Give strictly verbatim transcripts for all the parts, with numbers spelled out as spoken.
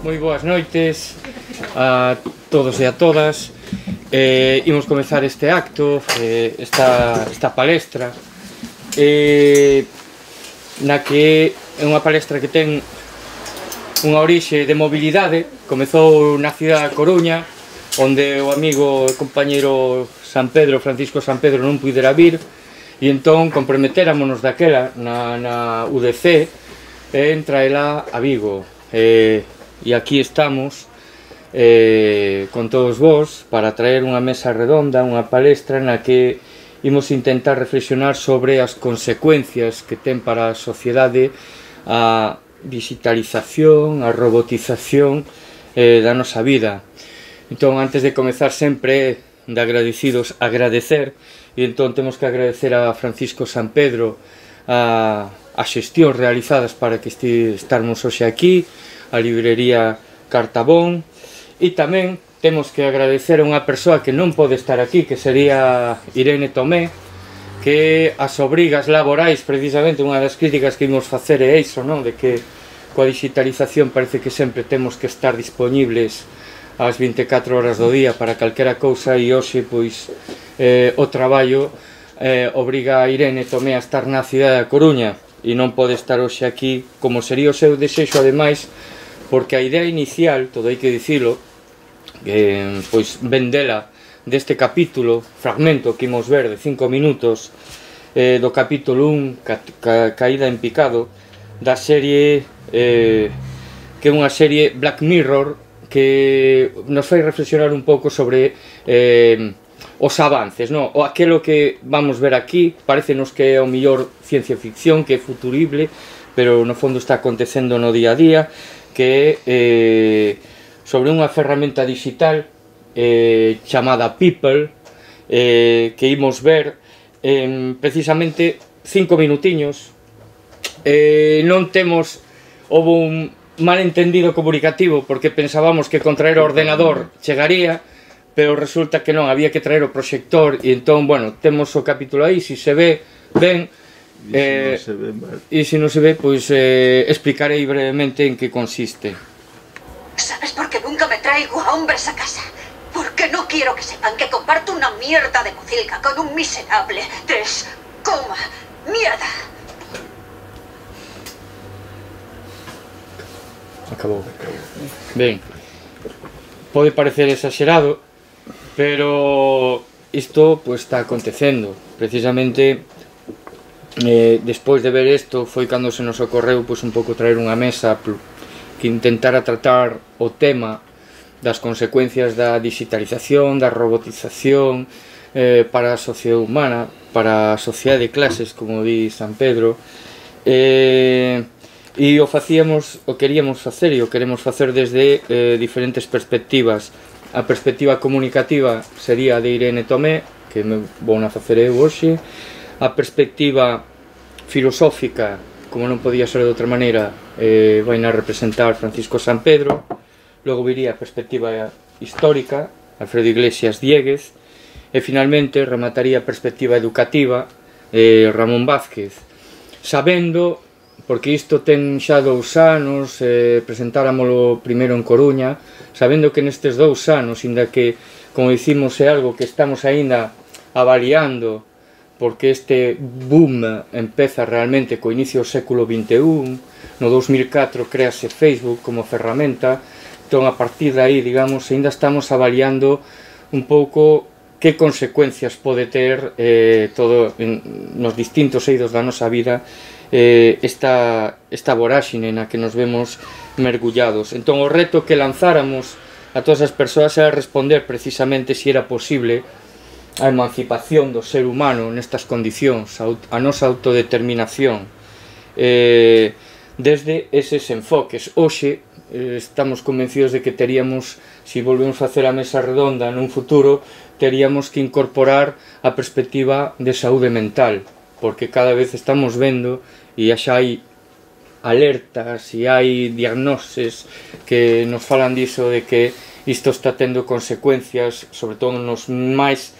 moi boas noites a todos e a todas. eh, Imos comezar este acto, eh, esta, esta palestra, eh, na que é unha palestra que ten unha orixe de mobilidade. Comezou na cidade da Coruña, onde o amigo e compañeiro San Pedro, Francisco San Pedro, non pudera vir, e entón comprometéramonos daquela na, na U D C en traela a Vigo. Eh, e aquí estamos eh, con todos vos para traer unha mesa redonda, unha palestra na que imos intentar reflexionar sobre as consecuencias que ten para a sociedade a digitalización, a robotización eh, da nosa vida. Entón, antes de comezar, sempre de agradecidos, agradecer, e entón temos que agradecer a Francisco San Pedro a, a xestións realizadas para que este, estarmos hoxe aquí, a librería Cartabón, e tamén temos que agradecer a unha persoa que non pode estar aquí, que sería Irene Tomé, que as obrigas laborais, precisamente unha das críticas que imos facer é iso, non? De que coa digitalización parece que sempre temos que estar disponibles ás vinte e catro horas do día para calquera cousa, e hoxe, pois, eh, o traballo eh, obriga a Irene Tomé a estar na cidade da Coruña e non pode estar hoxe aquí, como sería o seu desexo, ademais, porque a idea inicial, todo hai que dicilo, eh, pois vendela deste capítulo, fragmento que imos ver de cinco minutos eh, do capítulo un, ca, ca, Caída en picado, da serie eh, que é unha serie Black Mirror, que nos fai reflexionar un pouco sobre eh, os avances, no? O aquelo que vamos ver aquí parecenos que é o mellor ciencia ficción, que é futurible, pero no fondo está acontecendo no día a día, que é eh, sobre unha ferramenta digital eh, chamada People, eh, que imos ver en precisamente cinco minutiños. Eh, non temos, houve un malentendido comunicativo, porque pensábamos que con traer o ordenador chegaría, pero resulta que non, había que traer o proxector, e entón, bueno, temos o capítulo aí, se se ve ben. E se eh, se non se ve, pois eh, explicarei brevemente en que consiste. ¿Sabes por qué nunca me traigo a hombres a casa? Porque no quiero que sepan que comparto una mierda de pocilga con un miserable. Tres, coma, mierda. Acabou. Ben, pode parecer exagerado, pero isto pois está acontecendo. Precisamente eh, despois de ver isto foi cando se nos ocorreu pois un pouco traer unha mesa que intentara tratar o tema das consecuencias da digitalización, da robotización eh, para a sociedade humana, para a sociedade de clases, como di San Pedro, eh, e o facíamos, o queríamos facer e o queremos facer desde eh, diferentes perspectivas. A perspectiva comunicativa sería a de Irene Tomé, que me vou na facer eu hoxe. A perspectiva filosófica, como non podía ser de outra maneira, eh, vai na representar Francisco San Pedro. Logo viría a perspectiva histórica, Alfredo Iglesias Dieguez, e finalmente remataría a perspectiva educativa, eh, Ramón Vázquez, sabendo, porque isto ten xa dous anos, eh, presentáramolo primeiro en Coruña, sabendo que nestes dous anos, inda que, como dicimos, é algo que estamos aínda avaliando, porque este boom empeza realmente co inicio do século vinte e un, no dous mil catro créase Facebook como ferramenta, entón a partir de aí, digamos, ainda estamos avaliando un pouco que consecuencias pode ter eh, todo en, nos distintos eidos da nosa vida eh, esta, esta voráxine na que nos vemos mergullados. Entón o reto que lanzáramos a todas as persoas era responder precisamente se era posible a emancipación do ser humano nestas condicións, a nosa autodeterminación eh, desde eses enfoques. Hoxe eh, estamos convencidos de que teríamos, se volvemos a facer a mesa redonda nun futuro, teríamos que incorporar a perspectiva de saúde mental, porque cada vez estamos vendo e xa hai alertas e hai diagnoses que nos falan diso de que isto está tendo consecuencias, sobre todo nos máis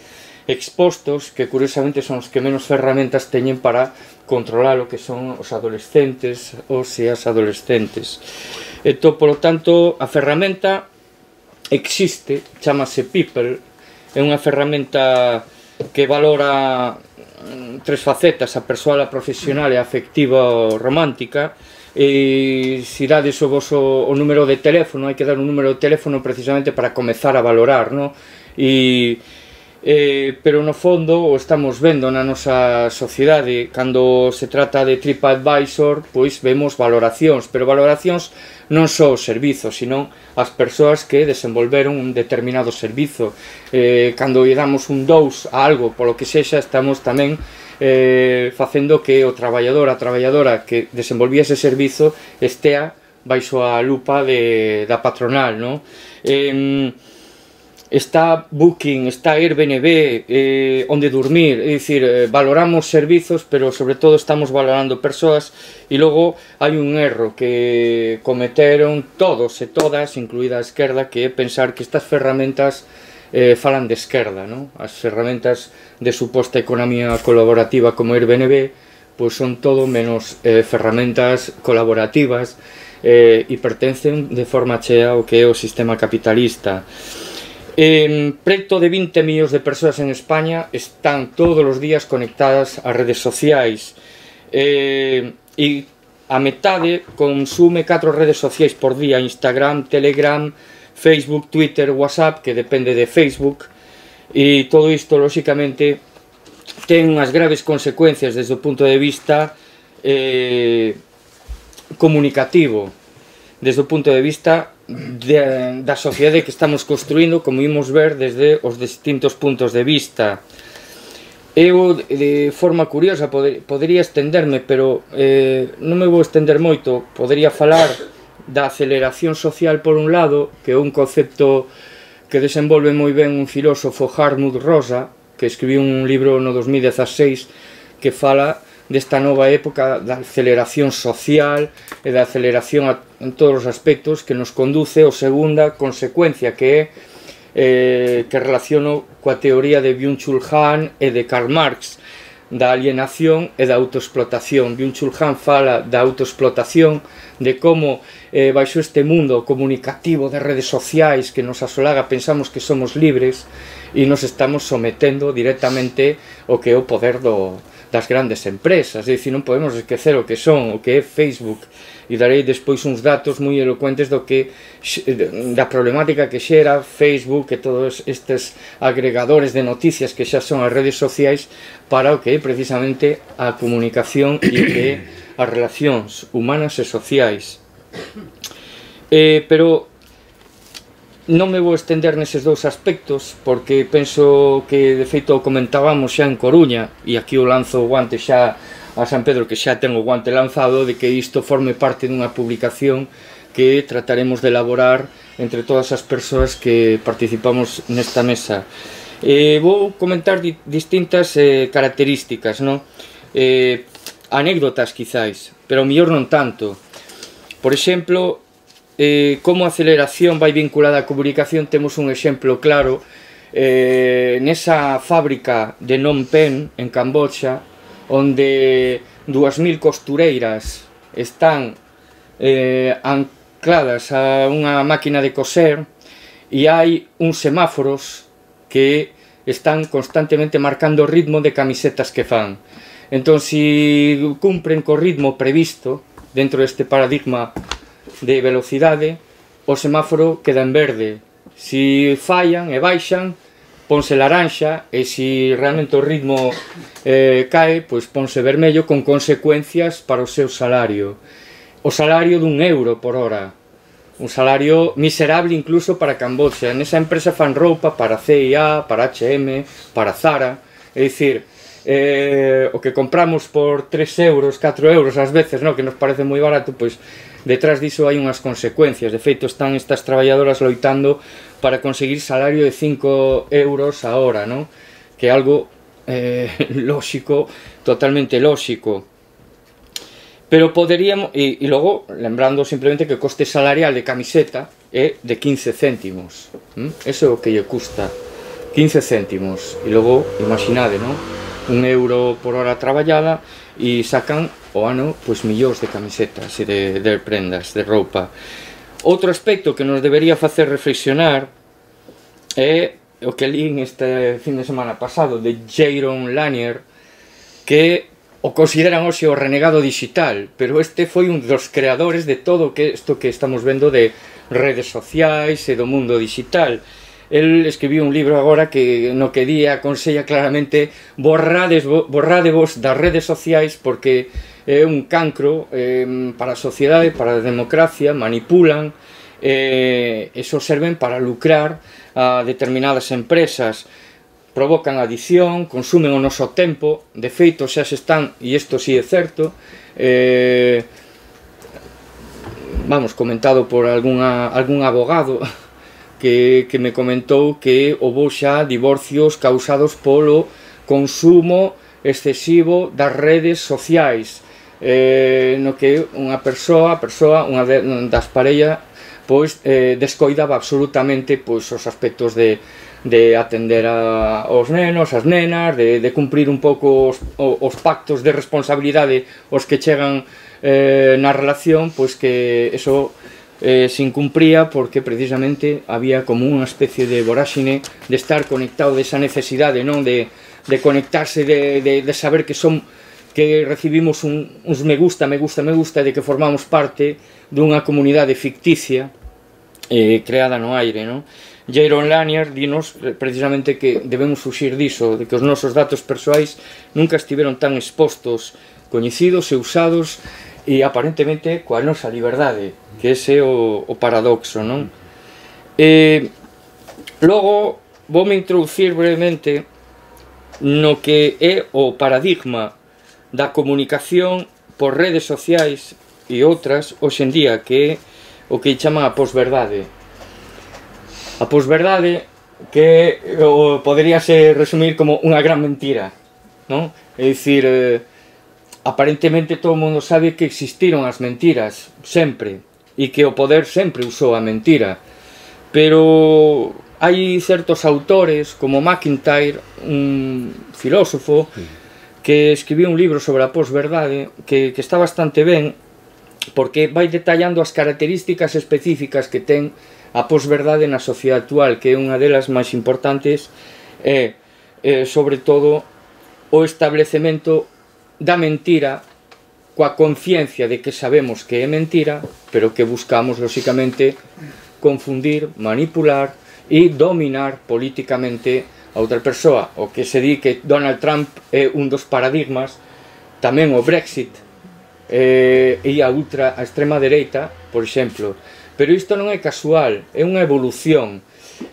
expostos, que curiosamente son os que menos ferramentas teñen para controlar o que son os adolescentes, os e as adolescentes. Entón, polo tanto, a ferramenta existe, chamase People, é unha ferramenta que valora tres facetas, a persoal, a profesional e a afectiva ou romántica, e se dades o vosso o número de teléfono, hai que dar un número de teléfono precisamente para comezar a valorar, no? E, eh, pero no fondo o estamos vendo na nosa sociedade, cando se trata de TripAdvisor, pois vemos valoracións, pero valoracións non só os servizos, sino as persoas que desenvolveron un determinado servizo. Eh, cando lle damos un dous a algo, polo que sexa, estamos tamén eh, facendo que o traballador, a traballadora que desenvolvía ese servizo estea baixo a lupa de, da patronal, non? Eh, está Booking, está Airbnb, eh, onde dormir, é dicir, eh, valoramos servizos, pero sobre todo estamos valorando persoas, e logo hai un erro que cometeron todos e todas, incluída a esquerda, que é pensar que estas ferramentas eh, falan de esquerda, non? As ferramentas de suposta economía colaborativa como Airbnb, pois son todo menos eh, ferramentas colaborativas eh, e pertencen de forma chea ao que é o sistema capitalista. Eh, preto de vinte millóns de persoas en España están todos os días conectadas ás redes sociais, eh, e a metade consume catro redes sociais por día: Instagram, Telegram, Facebook, Twitter, WhatsApp, que depende de Facebook, e todo isto, lóxicamente, ten unhas graves consecuencias desde o punto de vista eh, comunicativo, desde o punto de vista de, da sociedade que estamos construindo, como imos ver desde os distintos puntos de vista. Eu, de forma curiosa, poder, podería estenderme, pero eh, non me vou estender moito. Podería falar da aceleración social por un lado, que é un concepto que desenvolve moi ben un filósofo, Hartmut Rosa, que escribiu un libro no dos mil dezaseis que fala desta nova época da aceleración social e da aceleración en todos os aspectos, que nos conduce a segunda consecuencia, que é eh, que relaciono coa teoría de Byung-Chul Han e de Karl Marx, da alienación e da autoexplotación. Byung-Chul Han fala da autoexplotación, de como eh, baixo este mundo comunicativo de redes sociais que nos asolaga, pensamos que somos libres e nos estamos sometendo directamente ao que é o poder do das grandes empresas. É dicir, non podemos esquecer o que son, o que é Facebook, e darei despois uns datos moi elocuentes do que da problemática que xera Facebook e todos estes agregadores de noticias que xa son as redes sociais para o que é precisamente a comunicación e o que é as relacións humanas e sociais. Eh, pero non me vou estender neses dous aspectos, porque penso que, de feito, o comentábamos xa en Coruña, e aquí o lanzo o guante xa a San Pedro, que xa ten o guante lanzado, de que isto forme parte dunha publicación que trataremos de elaborar entre todas as persoas que participamos nesta mesa. Eh, vou comentar di distintas eh, características, no? eh, anécdotas quizáis, pero mellor non tanto. Por exemplo, Eh, como a aceleración vai vinculada á comunicación, temos un exemplo claro eh, nesa fábrica de Phnom Penh, en Camboya, onde dúas mil costureiras están eh, ancladas a unha máquina de coser, e hai uns semáforos que están constantemente marcando o ritmo de camisetas que fan. Entón, se cumpren co ritmo previsto dentro deste paradigma de velocidade, o semáforo queda en verde. Se fallan e baixan, ponse laranxa, e se realmente o ritmo eh, cae, pois ponse vermello, con consecuencias para o seu salario. O salario dun euro por hora, un salario miserable incluso para Camboya. Nesa empresa fan roupa para C I A, para H e M, para Zara, é dicir, eh, o que compramos por tres euros, catro euros ás veces, no, que nos parece moi barato, pois detrás diso hai unhas consecuencias. De feito, están estas traballadoras loitando para conseguir salario de cinco euros a hora, non? Que é algo eh, lóxico, totalmente lóxico. Pero poderíamos, e, e logo, lembrando simplemente que o coste salarial de camiseta é de quince céntimos. ¿Mm? Eso é o que lle custa, quince céntimos. E logo, imaginade, non? Un euro por hora traballada, e sacan o ano pois millóns de camisetas e de, de prendas, de roupa. Outro aspecto que nos debería facer reflexionar é o que lín este fin de semana pasado de Jaron Lanier, que o consideran hoxe o renegado digital, pero este foi un dos creadores de todo que isto que estamos vendo de redes sociais e do mundo digital. El escribiu un libro agora que no que di aconsella claramente borrades, borradevos das redes sociais porque é un cancro eh, para a sociedade, para a democracia, manipulan eh, e só serven para lucrar a determinadas empresas, provocan adición, consumen o noso tempo, de feito xa se están, e isto si é certo, eh, vamos, comentado por algunha, algún abogado que, que me comentou que houve xa divorcios causados polo consumo excesivo das redes sociais, eh, no que unha persoa, persoa unha de, das parellas, pois eh, descoidaba absolutamente pois os aspectos de de atender a, aos nenos, as nenas, de, de cumprir un pouco os, os pactos de responsabilidade os que chegan eh, na relación, pois que eso eh, se incumpría porque precisamente había como unha especie de voráxine de estar conectado, desa necesidade, non, de, de conectarse, de, de, de saber que son que recibimos un, uns me gusta, me gusta, me gusta, de que formamos parte dunha comunidade ficticia eh, creada no aire, non? Jaron Lanier dinos precisamente que debemos fuxir diso, de que os nosos datos persoais nunca estiveron tan expostos, coñecidos e usados e aparentemente coa nosa liberdade, que ese é o, o paradoxo, non? E logo voume introducir brevemente no que é o paradigma da comunicación por redes sociais e outras hoxe en día, que é o que chaman a posverdade. A posverdade que o, poderíase resumir como unha gran mentira, non? É dicir, eh, aparentemente todo o mundo sabe que existiron as mentiras sempre e que o poder sempre usou a mentira, pero hai certos autores como McIntyre, un filósofo que escribiu un libro sobre a posverdade que, que está bastante ben porque vai detallando as características específicas que ten a posverdade na sociedade actual, que é unha delas máis importantes, é, é sobre todo o establecemento da mentira coa conciencia de que sabemos que é mentira, pero que buscamos, lóxicamente, confundir, manipular e dominar políticamente a outra persoa. O que se di que Donald Trump é un dos paradigmas, tamén o Brexit eh, e a ultra, a extrema dereita, por exemplo. Pero isto non é casual, é unha evolución.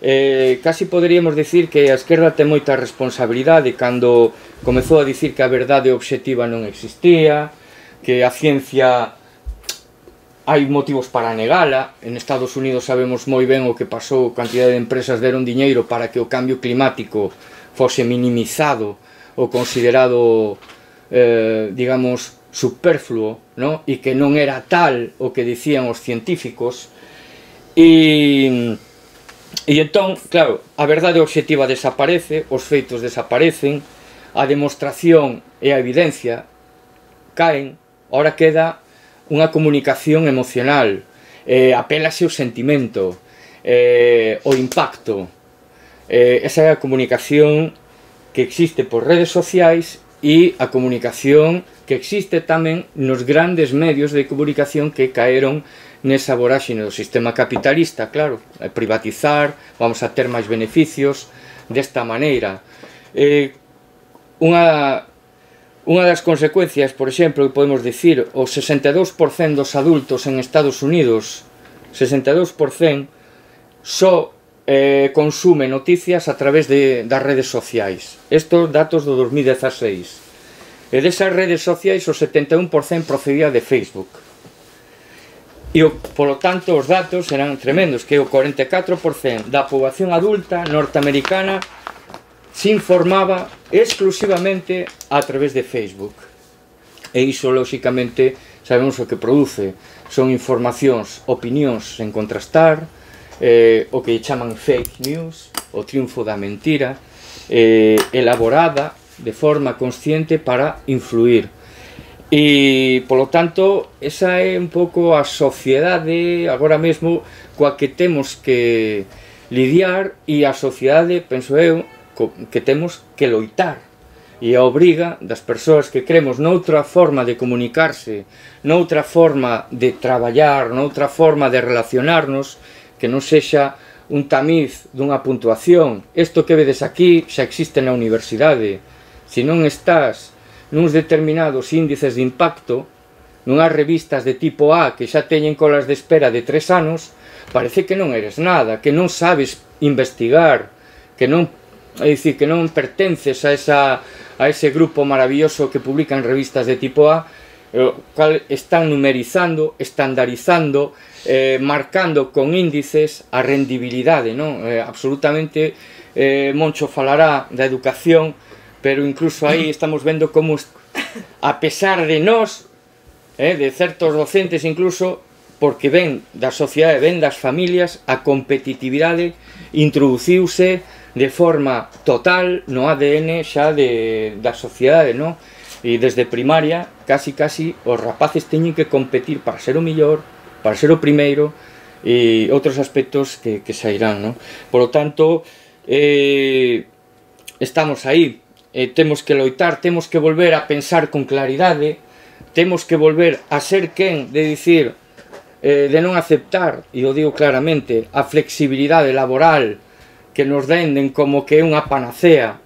Eh, casi poderíamos dicir que a esquerda ten moita responsabilidade cando comezou a dicir que a verdade obxectiva non existía, que a ciencia hai motivos para negala. En Estados Unidos sabemos moi ben o que pasou, cantidade de empresas deron diñeiro para que o cambio climático fose minimizado ou considerado, eh, digamos, superfluo, no? E que non era tal o que dicían os científicos. E, e entón, claro, a verdade obxectiva desaparece, os feitos desaparecen, a demostración e a evidencia caen, ahora queda unha comunicación emocional, eh, apélase o sentimento, eh, o impacto. Eh, esa é a comunicación que existe por redes sociais e a comunicación que existe tamén nos grandes medios de comunicación que caeron nesa voráxine do sistema capitalista, claro, privatizar, vamos a ter máis beneficios desta maneira. Eh, unha, unha das consecuencias, por exemplo, que podemos dicir, o sesenta e dous por cento dos adultos en Estados Unidos, sesenta e dous por cento, só eh, consume noticias a través de, das redes sociais. Estos datos do dos mil dezaseis. E desas redes sociais o setenta e un por cento procedía de Facebook. E, polo tanto, os datos eran tremendos, que o cuarenta e catro por cento da poboación adulta norteamericana se informaba exclusivamente a través de Facebook. E iso, lóxicamente, sabemos o que produce. Son informacións, opinións sen contrastar, eh, o que chaman fake news, o triunfo da mentira, eh, elaborada de forma consciente para influir. E, polo tanto, esa é un pouco a sociedade agora mesmo coa que temos que lidiar, e a sociedade, penso eu, que temos que loitar. E a obriga das persoas que cremos noutra forma de comunicarse, noutra forma de traballar, noutra forma de relacionarnos, que non sexa un tamiz dunha puntuación. Isto que vedes aquí xa existe na universidade. Se non estás nuns determinados índices de impacto, nunhas revistas de tipo A que xa teñen colas de espera de tres anos, parece que non eres nada, que non sabes investigar, que non, é dicir, que non pertences a esa a ese grupo maravilloso que publican revistas de tipo A, o cal están numerizando, estandarizando, eh, marcando con índices a rendibilidade, non? Eh, absolutamente, eh, Moncho falará da educación, pero incluso aí estamos vendo como, a pesar de nós, eh, de certos docentes incluso, porque ven da sociedade, ven das familias, a competitividade introduciuse de forma total no A D N xa de, da sociedade, non? E desde primaria, casi casi, os rapaces teñen que competir para ser o millor, para ser o primeiro, e outros aspectos que, que sairán, non? Por lo tanto, eh, estamos aí, eh, temos que loitar, temos que volver a pensar con claridade, temos que volver a ser quen de dicir, eh, de non aceptar, e o digo claramente, a flexibilidade laboral que nos denden como que é unha panacea.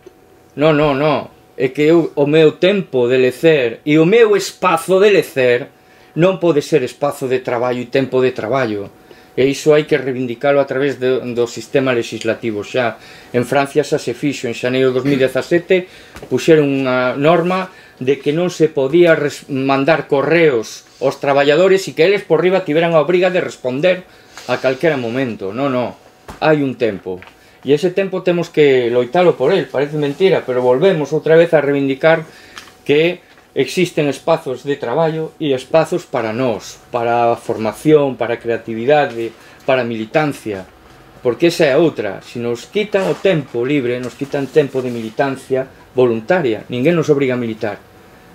Non, non, non. É que eu, o meu tempo de lecer e o meu espazo de lecer non pode ser espazo de traballo e tempo de traballo. E iso hai que reivindicalo a través do, do sistema legislativo xa. En Francia xa se fixo, en xaneiro de dos mil dezasete, puxeron unha norma de que non se podía mandar correos aos traballadores e que eles por riba tiveran a obriga de responder a calquera momento. Non, non. Hai un tempo. E ese tempo temos que loitalo por el, parece mentira, pero volvemos outra vez a reivindicar que existen espazos de traballo e espazos para nós, para a formación, para a creatividade, para a militancia, porque esa é outra. Se nos quitan o tempo libre, nos quitan tempo de militancia voluntaria, ninguén nos obriga a militar.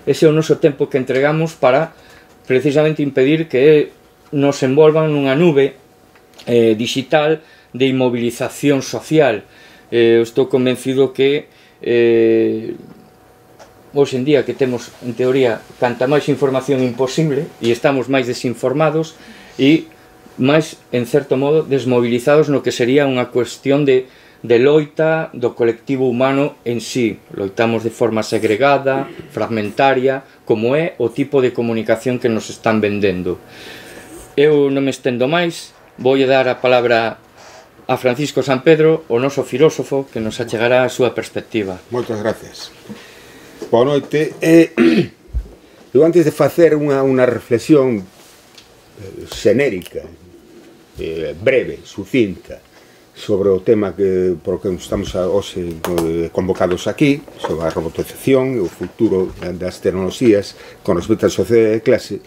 Ese é o noso tempo que entregamos para precisamente impedir que nos envolvan nunha nube eh, digital de inmovilización social. Eh, estou convencido que eh, hoxe en día que temos, en teoría, canta máis información imposible e estamos máis desinformados e máis, en certo modo, desmovilizados no que sería unha cuestión de, de loita do colectivo humano en sí. Loitamos de forma segregada, fragmentaria, como é o tipo de comunicación que nos están vendendo. Eu non me estendo máis, vou dar a palabra a Francisco Sampedro, o noso filósofo, que nos achegará a súa perspectiva. Moitas gracias. Boa noite. Eh, eu antes de facer unha, unha reflexión eh, xenérica, eh, breve, sucinta, sobre o tema que, por que estamos a, hoxe eh, convocados aquí, sobre a robotización e o futuro das tecnoloxías con respecto á sociedade de clase,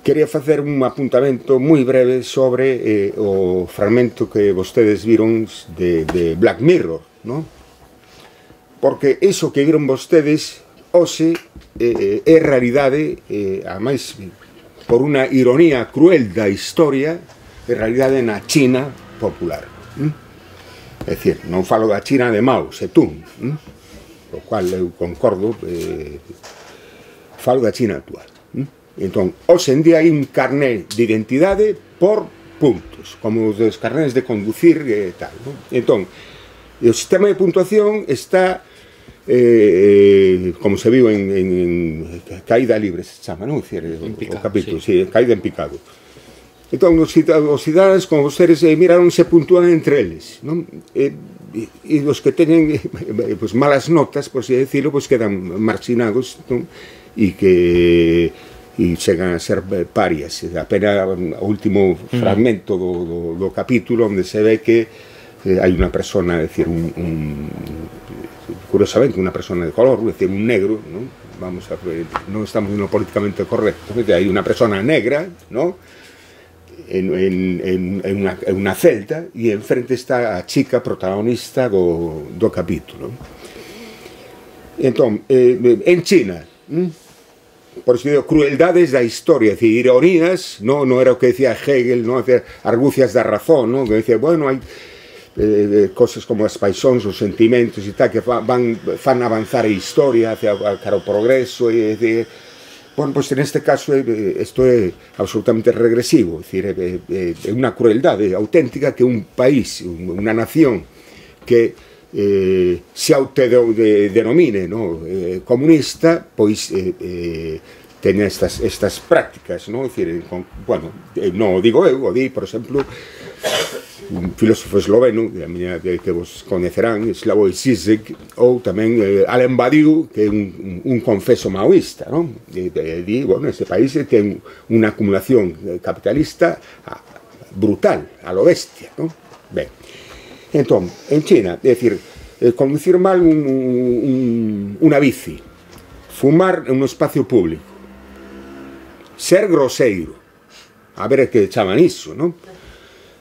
quería facer un apuntamento moi breve sobre eh, o fragmento que vostedes viron de, de Black Mirror, ¿no? Porque iso que viron vostedes hoxe eh, é realidade, eh, a máis por unha ironía cruel da historia, é realidade na China popular. ¿Mm? É dicir, non falo da China de Mao Zedong, ¿Mm? o cual eu concordo, eh, falo da China actual. Entón, hoxe en día hai un carné de identidade por puntos, como os dos carnés de conducir e tal, non? Entón, o sistema de puntuación está, eh, como se viu en, en, en caída libre, se chama, non? Dicir, o, o capítulo, sí. Sí, caída en picado. Entón, os, os cidadanos, como vostedes, eh, miraron se puntúan entre eles, non? E, e os que teñen eh, pues, malas notas, por así decirlo, pues, quedan marxinados, non? E que e chegan a ser parias. Apenas o último fragmento do, do, do capítulo onde se ve que eh, hai unha persona, é dicir, un, un, curiosamente unha persona de color, é dicir, un negro, non? Vamos a ver, non estamos no políticamente correcto, hai unha persona negra, non? En, en, en, en, unha, en unha celda e enfrente está a chica protagonista do, do capítulo. Entón, eh, en China, hm? por eso digo, crueldades da historia, es decir, ironías, no, no era o que decía Hegel, no, decir, argucias da razón, no, que decía, bueno, hai eh, cosas como as paixóns, os sentimentos e tal, que van, fan avanzar a historia hacia cara ao progreso, e decir, bueno, pues en este caso isto é absolutamente regresivo, es decir, é unha crueldade auténtica que un país, unha nación que eh, se autodenomine, no, eh, comunista, pois eh, eh, ten estas, estas prácticas, no? Es decir, con, bueno, non o digo eu, o di, por exemplo, un filósofo esloveno que, a miña, que, que vos coñecerán, Slavoj Žižek, ou tamén eh, Alen Badiou, que é un, un confeso maoísta, no? E, e, di, bueno, este país ten unha acumulación capitalista brutal, a lo bestia, no? Ben, entón, en China, é dicir, eh, conducir mal un, un, unha bici, fumar en un espacio público, ser groseiro, a ver que chaman iso, non?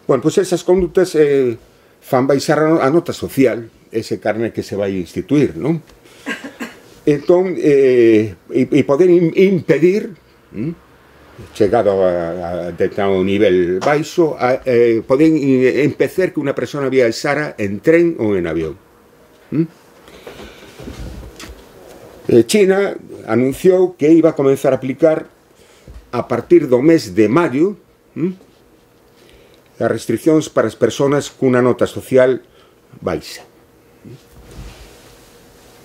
Bueno, pois pues esas conductas eh, fan baixar a nota social, ese carné que se vai instituir, non? Entón, eh, e, e poder impedir, hm, chegado a, a determinado nivel baixo, a, eh, poden empezar que unha persona viaxara en tren ou en avión. ¿Mm? Eh, China anunciou que iba a comenzar a aplicar a partir do mes de maio, ¿Mm? as restriccións para as persoas cunha nota social baixa.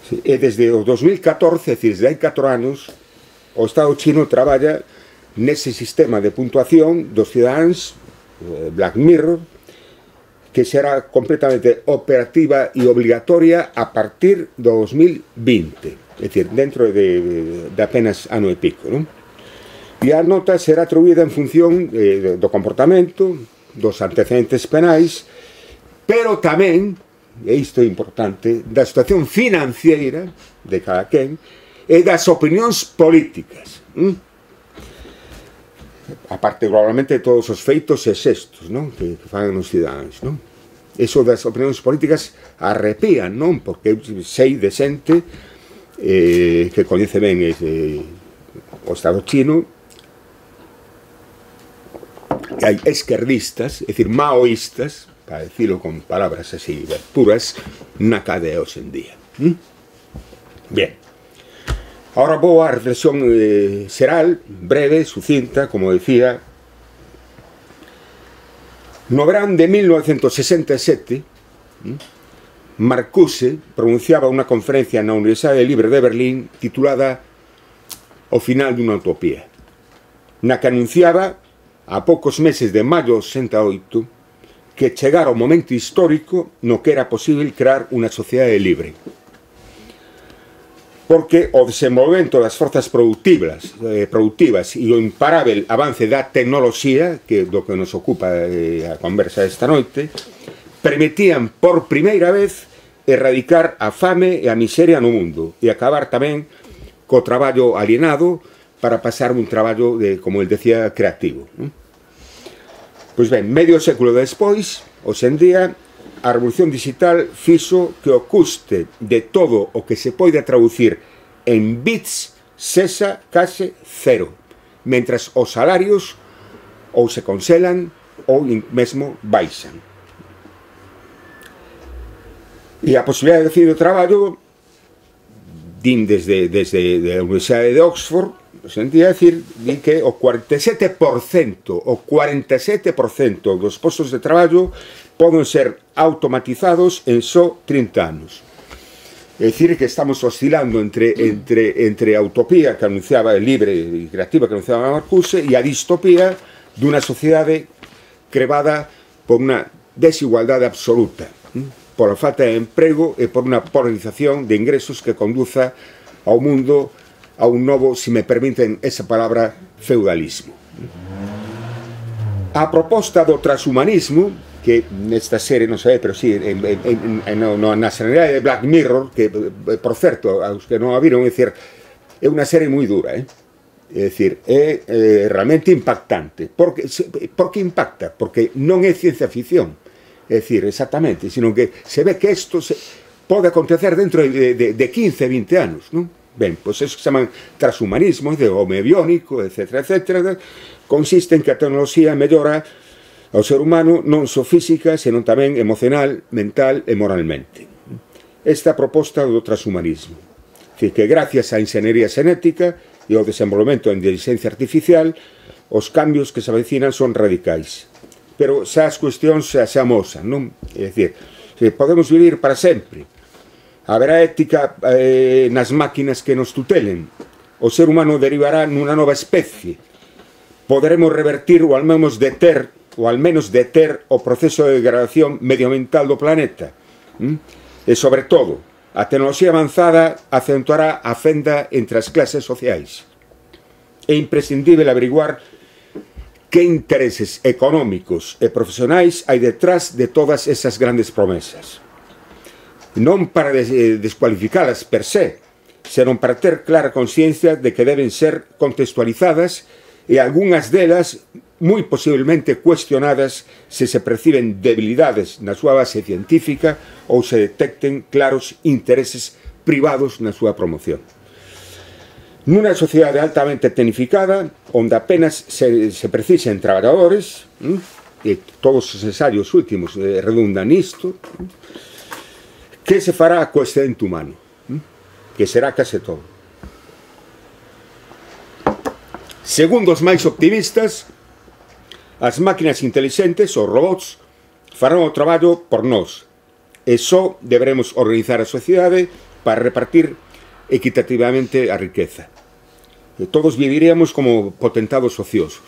¿Sí? E desde o dos mil catorce, é dicir, desde hai catro anos, o Estado chino traballa nese sistema de puntuación dos cidadáns, eh, Black Mirror, que será completamente operativa e obligatoria a partir do dos mil vinte, é dicir, dentro de, de apenas ano e pico, non? E a nota será atribuída en función eh, do comportamento, dos antecedentes penais, pero tamén, e isto é importante, da situación financiera de cada quen e das opinións políticas. ¿Mm? Aparte, probablemente, de todos os feitos e xestos, non? Que, que fan os cidadáns, non? Eso das opinións políticas arrepían, non? Porque eu sei de xente eh, que coñece ben ese, o Estado chino, que hai esquerdistas, é dicir, maoístas, para decirlo con palabras así puras, na cadea hoxe en día. ¿Mm? Bien. Ahora vou a reflexión eh, xeral, breve, sucinta, como decía. No verán de mil novecentos sesenta e sete, Marcuse pronunciaba unha conferencia na Universidade Libre de Berlín titulada O final dunha utopía, na que anunciaba, a poucos meses de maio de sesenta e oito, que chegara o momento histórico no que era posible crear unha sociedade libre. Porque o desenvolvemento das forzas productivas, eh, productivas e o imparável avance da tecnoloxía, que é do que nos ocupa eh, a conversa esta noite, permitían por primeira vez erradicar a fame e a miseria no mundo e acabar tamén co traballo alienado para pasar un traballo, de, como el decía, creativo. ¿No? Pois ben, medio século despois, hoxe en día, a revolución digital fixo que o custe de todo o que se poida traducir en bits sexa case cero, mentras os salarios ou se congelan ou mesmo baixan. E a posibilidade de decidir o traballo, din desde, desde a Universidade de Oxford, sentía decir que o cuarenta e sete por cento, o cuarenta e sete por cento dos postos de traballo poden ser automatizados en só trinta anos. É dicir, que estamos oscilando entre, entre, entre a utopía que anunciaba libre e creativa que anunciaba Marcuse e a distopía dunha sociedade crevada por unha desigualdade absoluta, por a falta de emprego e por unha polarización de ingresos que conduza ao mundo a un novo, se me permiten esa palabra, feudalismo. A proposta do transhumanismo, que nesta serie, non sei, pero sí, en, en, en, no, na sanidade de Black Mirror, que, por certo, aos que non a viron, é dicir, é unha serie moi dura, eh? É dicir, é eh, realmente impactante. Por que, por que impacta? Porque non é ciencia ficción, é dicir, exactamente, sino que se ve que isto se, pode acontecer dentro de, de, de quince, vinte anos, non? Ben, pois eso que se chaman transhumanismo, de home biónico, etcétera, etcétera, consiste en que a tecnoloxía mellora ao ser humano non só física, senón tamén emocional, mental e moralmente. Esta proposta do transhumanismo, que gracias á inxeniería xenética e ao desenvolvemento en inteligencia artificial, os cambios que se avecinan son radicais. Pero xa as cuestións xa se amosan, non? É dicir, podemos vivir para sempre. Haberá ética eh, nas máquinas que nos tutelen. O ser humano derivará nunha nova especie. Poderemos revertir ou al menos deter, ou al menos deter o proceso de degradación medioambiental do planeta. ¿Mm? E, sobre todo, a tecnoloxía avanzada acentuará a fenda entre as clases sociais. É imprescindible averiguar que intereses económicos e profesionais hai detrás de todas esas grandes promesas. Non para descualificalas per se, senón para ter clara consciencia de que deben ser contextualizadas e algunhas delas moi posiblemente cuestionadas se se perciben debilidades na súa base científica ou se detecten claros intereses privados na súa promoción. Nunha sociedade altamente tecnificada, onde apenas se, se precisen traballadores, ¿m? e todos os ensaios últimos eh, redundan nisto, ¿m? que se fará co excedente humano? ¿M? Que será case todo. Segundo os máis optimistas, as máquinas intelixentes, os robots, farán o traballo por nós, e só deberemos organizar a sociedade para repartir equitativamente a riqueza. E todos viviríamos como potentados ociosos.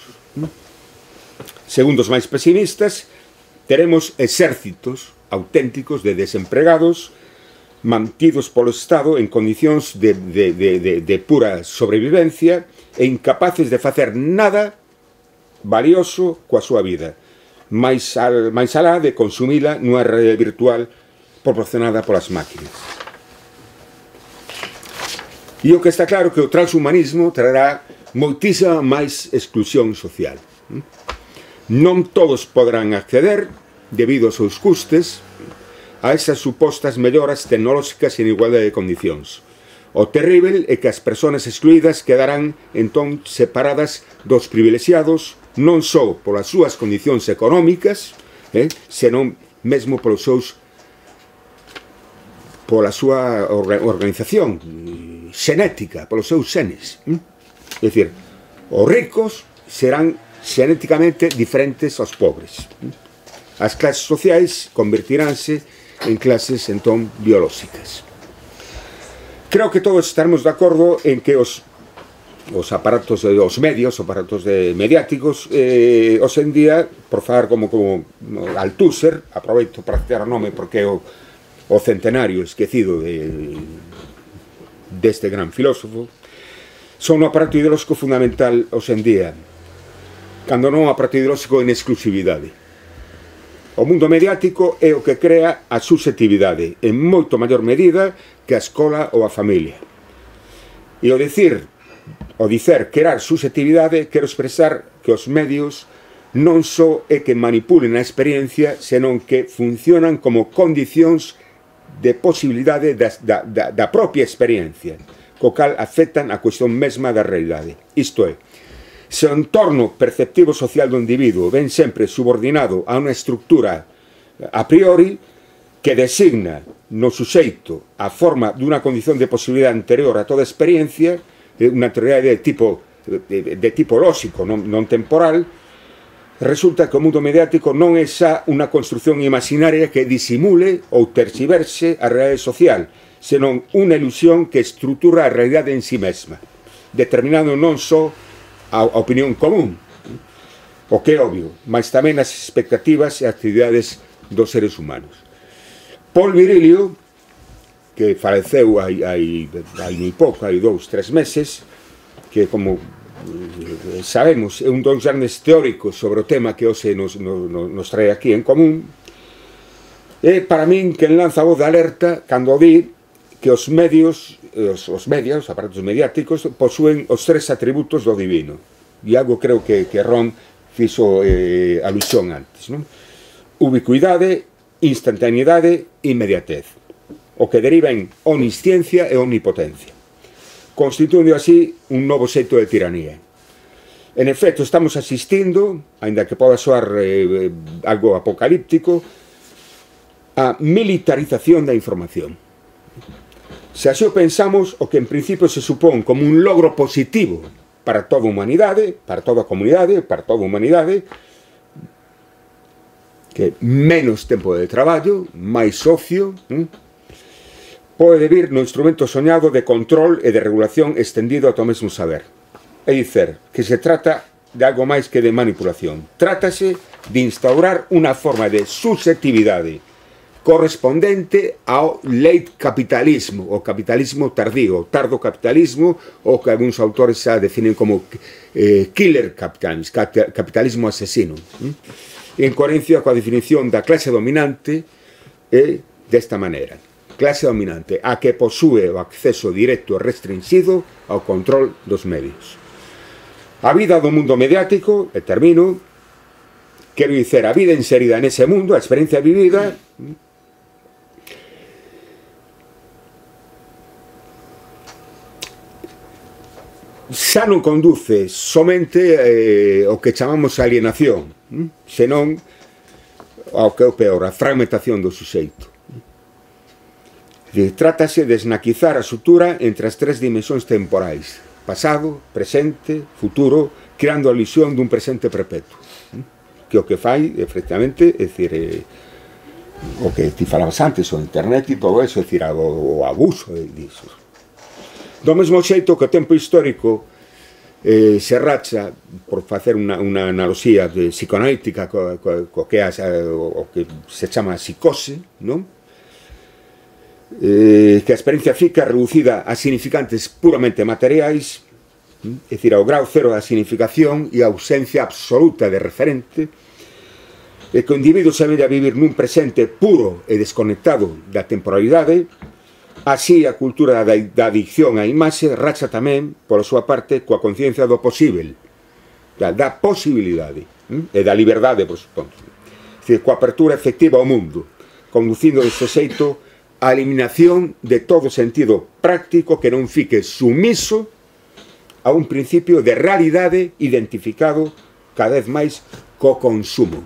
Segundo os máis pesimistas, teremos exércitos auténticos de desempregados mantidos polo Estado en condicións de, de, de, de, de pura sobrevivencia e incapaces de facer nada valioso coa súa vida, máis, al, máis alá de consumila nunha rede virtual proporcionada polas máquinas. E o que está claro que o transhumanismo trará moitísima máis exclusión social. Non todos poderán acceder, debido aos seus custes, a esas supostas melloras tecnolóxicas en igualdade de condicións. O terrível é que as persoas excluídas quedarán entón separadas dos privilexiados non só polas súas condicións económicas, eh, senón mesmo polos seus pola súa organización xenética, polos seus xenes. É dicir, os ricos serán xenéticamente diferentes aos pobres. As clases sociais convertiránse en clases, entón, biolóxicas. Creo que todos estaremos de acordo en que os, os aparatos, os medios, os aparatos de mediáticos, eh, hoxe en día, por falar como, como Althusser, aproveito para citar o nome porque é o, o centenario esquecido de, deste gran filósofo, son un aparato ideolóxico fundamental hoxe en día, cando non un aparato ideolóxico en exclusividade. O mundo mediático é o que crea a susceptividade, en moito maior medida que a escola ou a familia. E o dicir, o dicer crear susceptividade, quero expresar que os medios non só é que manipulen a experiencia, senón que funcionan como condicións de posibilidade da, da, da, da propia experiencia, co cal afectan a cuestión mesma da realidade. Isto é, se o entorno perceptivo social do individuo ven sempre subordinado a unha estructura a priori que designa no suxeito a forma dunha condición de posibilidade anterior a toda experiencia, unha teoría de tipo, de, de tipo lóxico, non, non temporal, resulta que o mundo mediático non é xa unha construción imaginaria que disimule ou terxiverse a realidade social, senón unha ilusión que estrutura a realidade en si mesma, determinando non só a opinión común, o que é obvio, mas tamén as expectativas e actividades dos seres humanos. Paul Virilio, que faleceu hai, hai, hai moi pouco, hai dous, tres meses, que como sabemos é un dos grandes teóricos sobre o tema que hoxe nos, nos, nos trae aquí en común, é para min quen lanza a voz de alerta cando di que os medios, os, os medios, os aparatos mediáticos, posúen os tres atributos do divino. E algo creo que, que Ron fixo eh, alusión antes, non? Ubicuidade, instantaneidade e inmediatez, o que deriva en omnisciencia e omnipotencia. constituindo así un novo xeito de tiranía. En efecto, estamos asistindo, aínda que poda soar eh, algo apocalíptico, a militarización da información. Se así o pensamos, o que en principio se supón como un logro positivo para toda a humanidade, para toda a comunidade, para toda a humanidade, que menos tempo de traballo, máis ocio, hm? pode vir no instrumento soñado de control e de regulación extendido ata o mesmo saber. É dicer, que se trata de algo máis que de manipulación. Trátase de instaurar unha forma de susceptividade correspondente ao late capitalismo, o capitalismo tardío, o tardo capitalismo, o que algúns autores xa definen como eh, killer capitalismo, capitalismo asesino. ¿eh? En coherencia coa definición da clase dominante é desta maneira. Clase dominante, a que posúe o acceso directo e restringido ao control dos medios. A vida do mundo mediático, e termino, quero dizer, a vida inserida nese mundo, a experiencia vivida, xa non conduce somente eh, o que chamamos alienación, senón ao que é o peor, a fragmentación do suxeito. Trátase de esnaquizar a sutura entre as tres dimensións temporais: pasado, presente, futuro, creando a ilusión dun presente perpetuo, que o que fai, efectivamente, é dicir, eh, o que ti falabas antes, o internet e todo eso, é dicir, o, o abuso disso. Do mesmo xeito que o tempo histórico eh, se racha, por facer unha, unha analoxía de psicoanalítica co, co, co que é o, o que se chama psicose, non? Eh, que a experiencia fica reducida a significantes puramente materiais, é dicir, ao grau cero da significación e a ausencia absoluta de referente, e que o individuo se vede a vivir nun presente puro e desconectado da temporalidade. Así, a cultura da, da adicción á imaxe racha tamén, pola súa parte, coa conciencia do posible, da, da posibilidade hm? e da liberdade, por suposto, é dicir, coa apertura efectiva ao mundo, conducindo deste xeito a eliminación de todo sentido práctico que non fique sumiso a un principio de realidade identificado cada vez máis co consumo,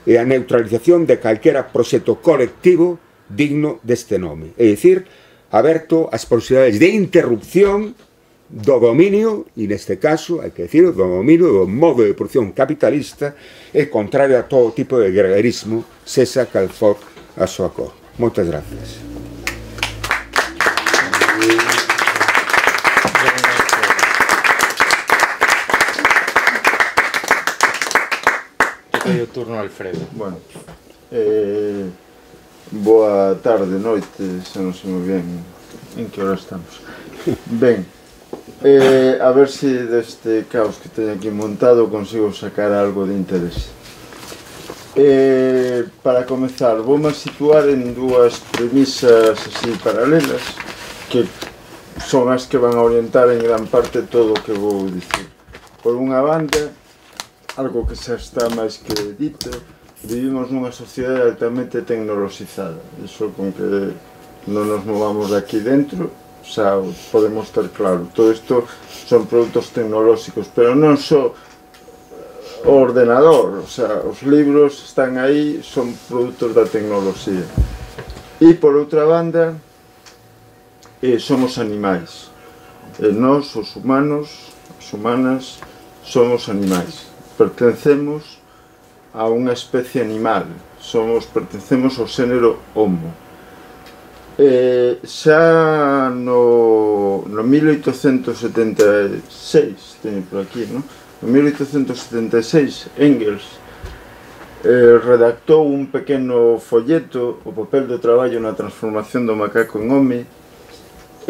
e a neutralización de calquera proxecto colectivo digno deste nome, é dicir, aberto ás posibilidades de interrupción do dominio, e neste caso, hai que dicir, do dominio do modo de produción capitalista, e contrario a todo tipo de gregarismo, sexa cal for a súa cor. Moitas gracias. Doy o turno a Alfredo. Bueno, eh, boa tarde, noite, xa non sei moi ben en que hora estamos. Ben, eh, a ver se deste caos que teño aquí montado consigo sacar algo de interés. Eh, para comezar, voume situar en dúas premisas así paralelas que son as que van a orientar en gran parte todo o que vou dicir. Por unha banda, algo que xa está máis que dito, vivimos nunha sociedade altamente tecnoloxizada. Iso con que non nos movamos de aquí dentro xa podemos ter claro. Todo isto son produtos tecnolóxicos, pero non só o ordenador, o sea, os libros están aí, son produtos da tecnoloxía. E por outra banda, eh, somos animais. E nós, os humanos, as humanas, somos animais. Pertencemos a unha especie animal, somos, pertencemos ao xénero Homo. Eh, xa no, no mil oitocentos setenta e seis, teño por aquí, non? En mil oitocentos setenta e seis, Engels eh, redactou un pequeno folleto, o papel do traballo na transformación do macaco en home,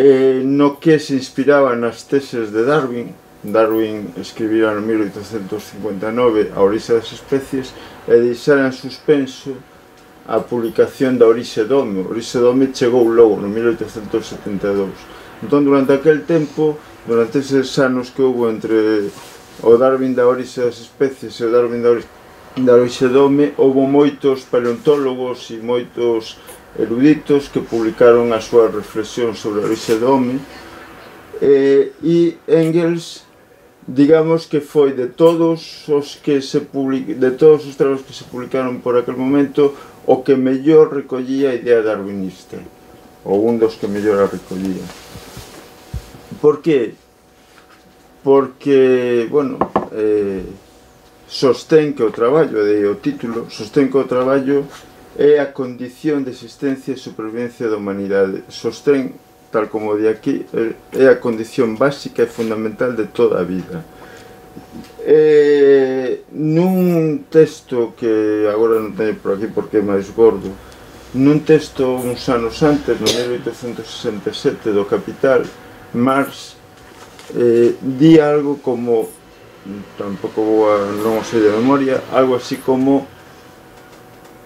eh, no que se inspiraba nas teses de Darwin. Darwin escribira no mil oitocentos cincuenta e nove A orixe das especies e deixara en suspenso a publicación da Orixe do Home. A Orixe do Home chegou logo no mil oitocentos setenta e dous. Entón, durante aquel tempo, durante eses anos que houve entre o Darwin da Orixe das especies e o Darwin da Orixe, da Orixe do Home, houve moitos paleontólogos e moitos eruditos que publicaron as súas reflexións sobre a Orixe do Home, Eh, e Engels, digamos que foi de todos os que se public... de todos os traballos que se publicaron por aquel momento o que mellor recollía a idea darwinista, ou un dos que mellor a recollía. Por que? Porque, bueno, eh, sostén que o traballo, de o título, sostén que o traballo é a condición de existencia e supervivencia da humanidade. Sostén, tal como de aquí, é a condición básica e fundamental de toda a vida. Eh, nun texto que agora non teño por aquí porque é máis gordo, nun texto uns anos antes, no mil oitocentos sesenta e sete, do Capital, Marx eh, di algo como, tampouco vou a, non o sei de memoria, algo así como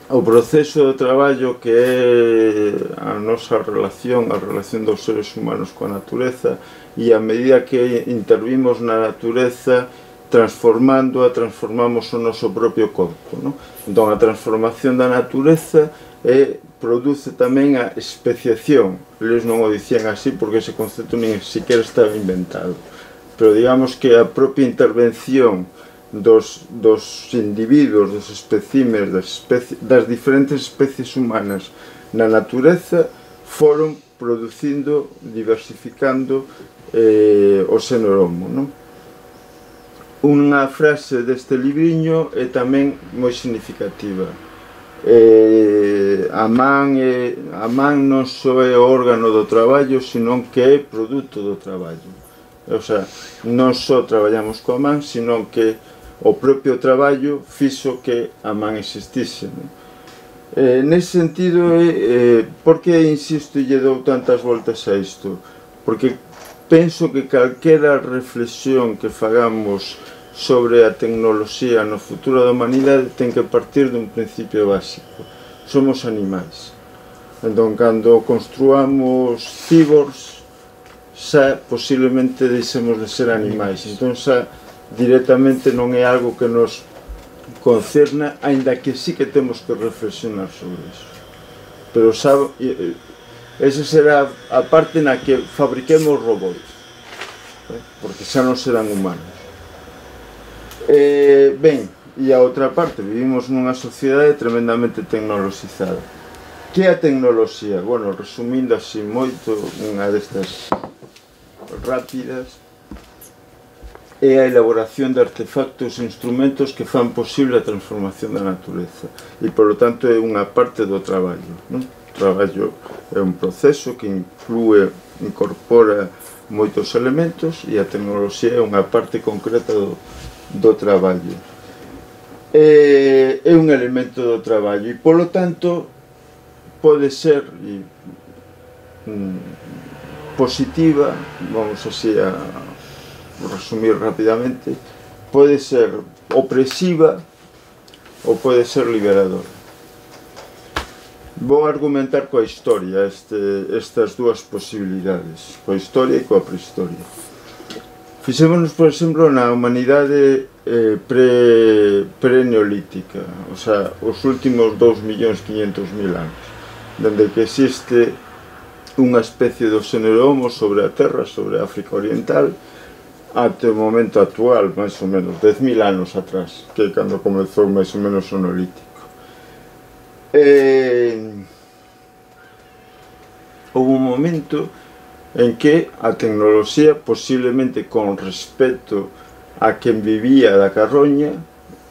o proceso do traballo, que é a nosa relación, a relación dos seres humanos coa natureza, e a medida que intervimos na natureza, transformándoa, transformamos o noso propio corpo, non? Entón, a transformación da natureza é, produce tamén a especiación. Eles non o dicían así porque ese concepto nin siquiera estaba inventado, pero digamos que a propia intervención Dos, dos individuos, dos especímenes, das, especie, das diferentes especies humanas na natureza foron producindo, diversificando eh, o xénero homo, non? Unha frase deste libriño é tamén moi significativa. Eh, a, man é, a man non só é o órgano do traballo, senón que é produto do traballo. O sea, non só traballamos coa man, senón que o propio traballo fixo que a man existise, non? Eh, nese sentido, eh, por que insisto e lle dou tantas voltas a isto? Porque penso que calquera reflexión que fagamos sobre a tecnoloxía no futuro da humanidade ten que partir dun principio básico. Somos animais. Entón, cando construamos cyborgs, xa posiblemente deixemos de ser animais. Entón, xa directamente non é algo que nos concerna, aínda que sí que temos que reflexionar sobre iso. Pero sabe, esa será a parte na que fabriquemos robots, porque xa non serán humanos. Eh, ben, e a outra parte, vivimos nunha sociedade tremendamente tecnoloxizada. Que é a tecnoloxía? Bueno, resumindo así moito, unha destas rápidas, é a elaboración de artefactos e instrumentos que fan posible a transformación da natureza, e polo tanto é unha parte do traballo, non? O traballo é un proceso que inclúe, incorpora moitos elementos, e a tecnoloxía é unha parte concreta do, do traballo. É, é un elemento do traballo, e polo tanto pode ser e, mm, positiva, vamos así a resumir rapidamente, pode ser opresiva ou pode ser liberadora. Vou argumentar coa historia este, estas dúas posibilidades, coa historia e coa prehistoria. Fixémonos, por exemplo, na humanidade eh, pre, pre-neolítica, o sea, os últimos dous millóns quinhentos mil anos, dende que existe unha especie do xénero homo sobre a Terra, sobre a África Oriental, até o momento actual, máis ou menos, dez mil anos atrás, que é cando comezou máis ou menos o neolítico. Eh, houve un momento en que a tecnoloxía, posiblemente con respecto a quen vivía da carroña,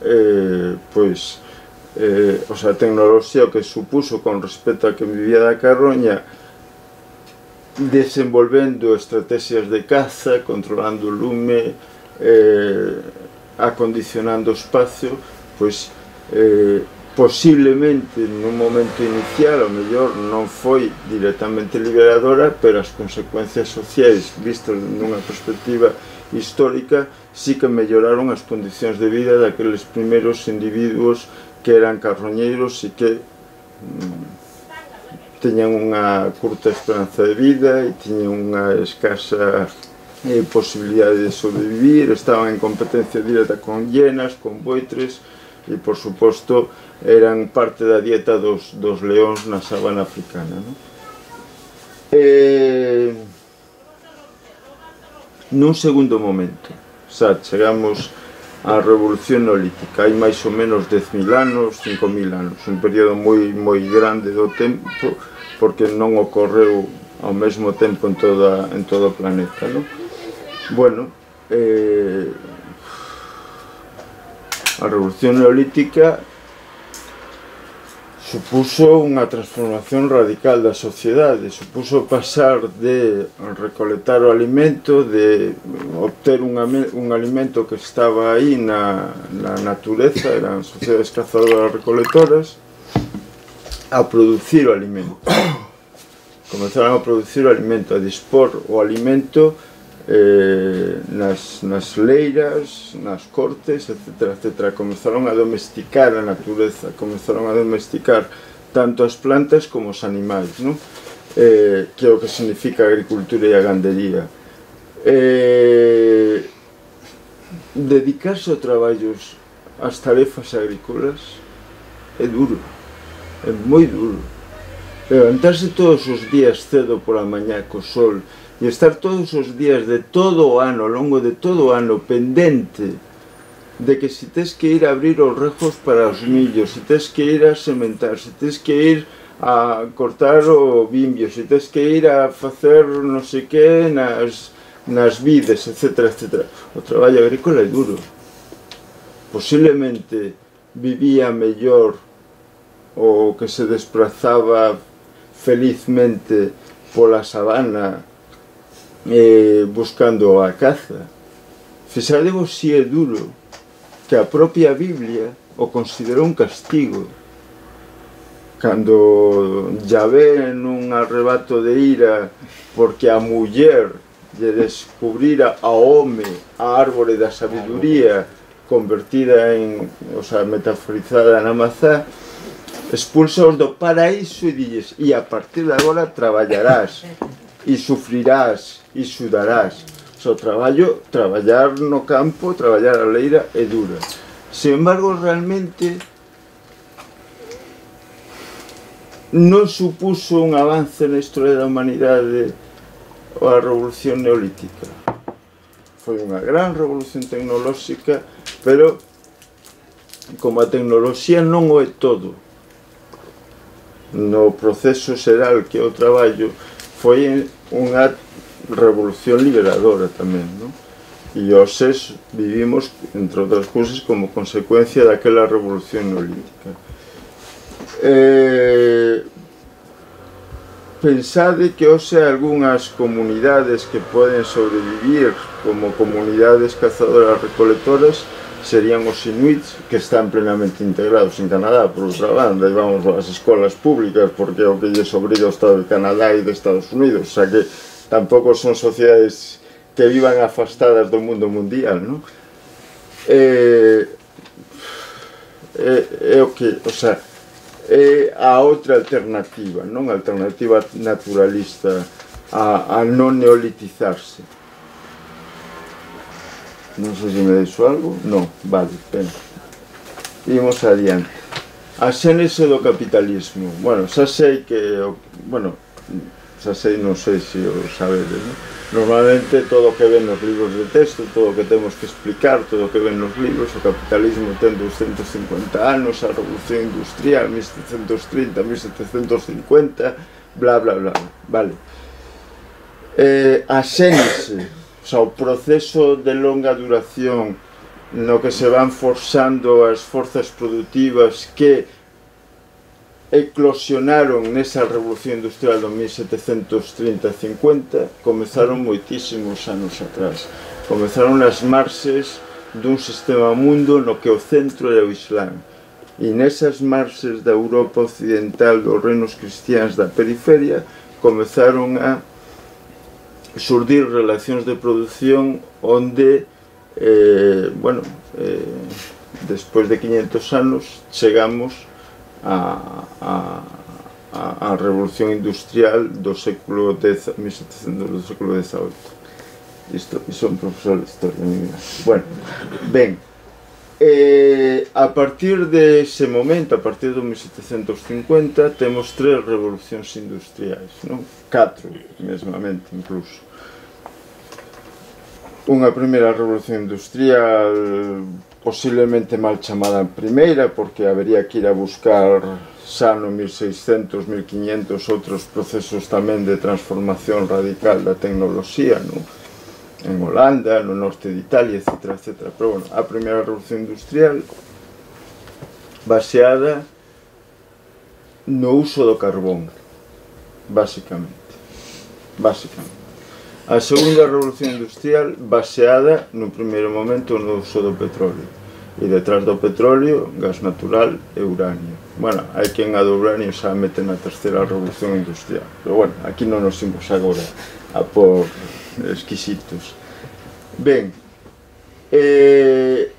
eh, pois, eh, o sea, a tecnoloxía o que supuso con respecto a quen vivía da carroña, desenvolvendo estrategias de caza, controlando o lume, eh, acondicionando o espacio, pois eh, posiblemente nun momento inicial, ao mellor non foi directamente liberadora, pero as consecuencias sociais vistas nunha perspectiva histórica sí que melloraron as condicións de vida daqueles primeiros individuos que eran carroñeiros e que mm, teñan unha curta esperanza de vida e tiñan unha escasa eh, posibilidade de sobrevivir, estaban en competencia directa con hienas, con buitres e, por suposto, eran parte da dieta dos, dos leóns na sabana africana, non? Eh, nun segundo momento. Xa chegamos á Revolución Neolítica, hai máis ou menos dez mil anos, cinco mil anos, un período moi moi grande do tempo, porque non ocorreu ao mesmo tempo en, toda, en todo o planeta, non? Bueno, eh, a Revolución Neolítica supuso unha transformación radical da sociedade, supuso pasar de recolectar o alimento, de obter un, un alimento que estaba aí na, na natureza, eran sociedades cazadoras recolectoras, a producir o alimento. Comenzaron a producir o alimento, a dispor o alimento eh, nas, nas leiras, nas cortes, etcétera, etcétera. Comenzaron a domesticar a natureza, comenzaron a domesticar tanto as plantas como os animais, non? Eh, que é o que significa a agricultura e a gandería. Eh, dedicarse a traballos, ás tarefas agrícolas, é duro, é moi duro. Levantarse todos os días cedo pola mañá co sol e estar todos os días de todo o ano, ao longo de todo o ano, pendente de que se tes que ir a abrir os rejos para os millos, se tes que ir a sementar, se tes que ir a cortar o bimbio, se tes que ir a facer non sei que nas, nas vides, etcétera, etcétera. O traballo agrícola é duro. Posiblemente vivía mellor o que se desplazaba felizmente pola sabana eh, buscando a caza. Fixadevos si é duro que a propia Biblia o considerou un castigo. Cando Yahvé nun arrebato de ira porque a muller lle descubrira ao home a árbore da sabiduría convertida en, o sea, metaforizada na mazá, expulsaos do paraíso e dilles, e a partir de agora traballarás e sufrirás e sudarás. O traballo, traballar no campo, traballar a leira é dura. Sin embargo, realmente non supuso un avance na historia da humanidade a Revolución Neolítica. Foi unha gran revolución tecnolóxica, pero como a tecnoloxía non o é todo, no proceso xeral que é o traballo, foi unha revolución liberadora tamén, non? E hoxe vivimos, entre outras cousas, como consecuencia daquela revolución neolítica. Eh, pensade que hoxe algunhas comunidades que poden sobrevivir como comunidades cazadoras recolectoras serían os inuits, que están plenamente integrados en Canadá, por outra banda, e vamos ás escolas públicas porque é o que lles obriga o Estado de Canadá e de Estados Unidos, xa que tampouco son sociedades que vivan afastadas do mundo mundial, non? É, é, é o que, o sea, é a outra alternativa, non? A alternativa naturalista a, a non neolitizarse. Non sei se me deixo algo. Non, vale, ben. Imos adiante. A xénese do capitalismo. Bueno, xa sei que... Bueno, xa sei, non sei se o sabedes, non? Normalmente todo o que ven nos libros de texto, todo o que temos que explicar, todo o que ven nos libros, o capitalismo ten doscientos cincuenta anos, a revolución industrial, mil setecentos trinta, mil setecentos cincuenta, bla, bla, bla, vale. Eh, a xénese, o sea, o proceso de longa duración no que se van forzando as forzas productivas que eclosionaron nesa revolución industrial do mil setecentos trinta a cincuenta, comezaron moitísimos anos atrás. Comezaron nas marxes dun sistema mundo no que o centro era o Islán. E nesas marxes da Europa occidental, dos reinos cristiáns da periferia, comezaron a surdir relacións de produción onde, eh, bueno, eh, despois de quinhentos anos, chegamos a, a, a, a revolución industrial do século dez, mil setecentos, do século dezaoito. Isto, son profesor de historia, mira. Bueno, ben, eh, a partir dese momento, a partir do mil setecentos cincuenta, temos tres revolucións industriais, non? Catro, mesmamente, incluso. unha primeira revolución industrial posiblemente mal chamada a primeira, porque habería que ir a buscar xa no mil seiscentos, mil quinhentos outros procesos tamén de transformación radical da tecnoloxía, non? En Holanda, no norte de Italia, etcétera, etcétera. Pero, bueno, a primeira revolución industrial baseada no uso do carbón, basicamente. Basicamente. A segunda revolución industrial baseada, no primeiro momento, no uso do petróleo. E detrás do petróleo, gas natural e uranio. Bueno, hai quen a do uranio xa mete na terceira revolución industrial. Pero, bueno, aquí non nos imos agora a por exquisitos. Ben, eh,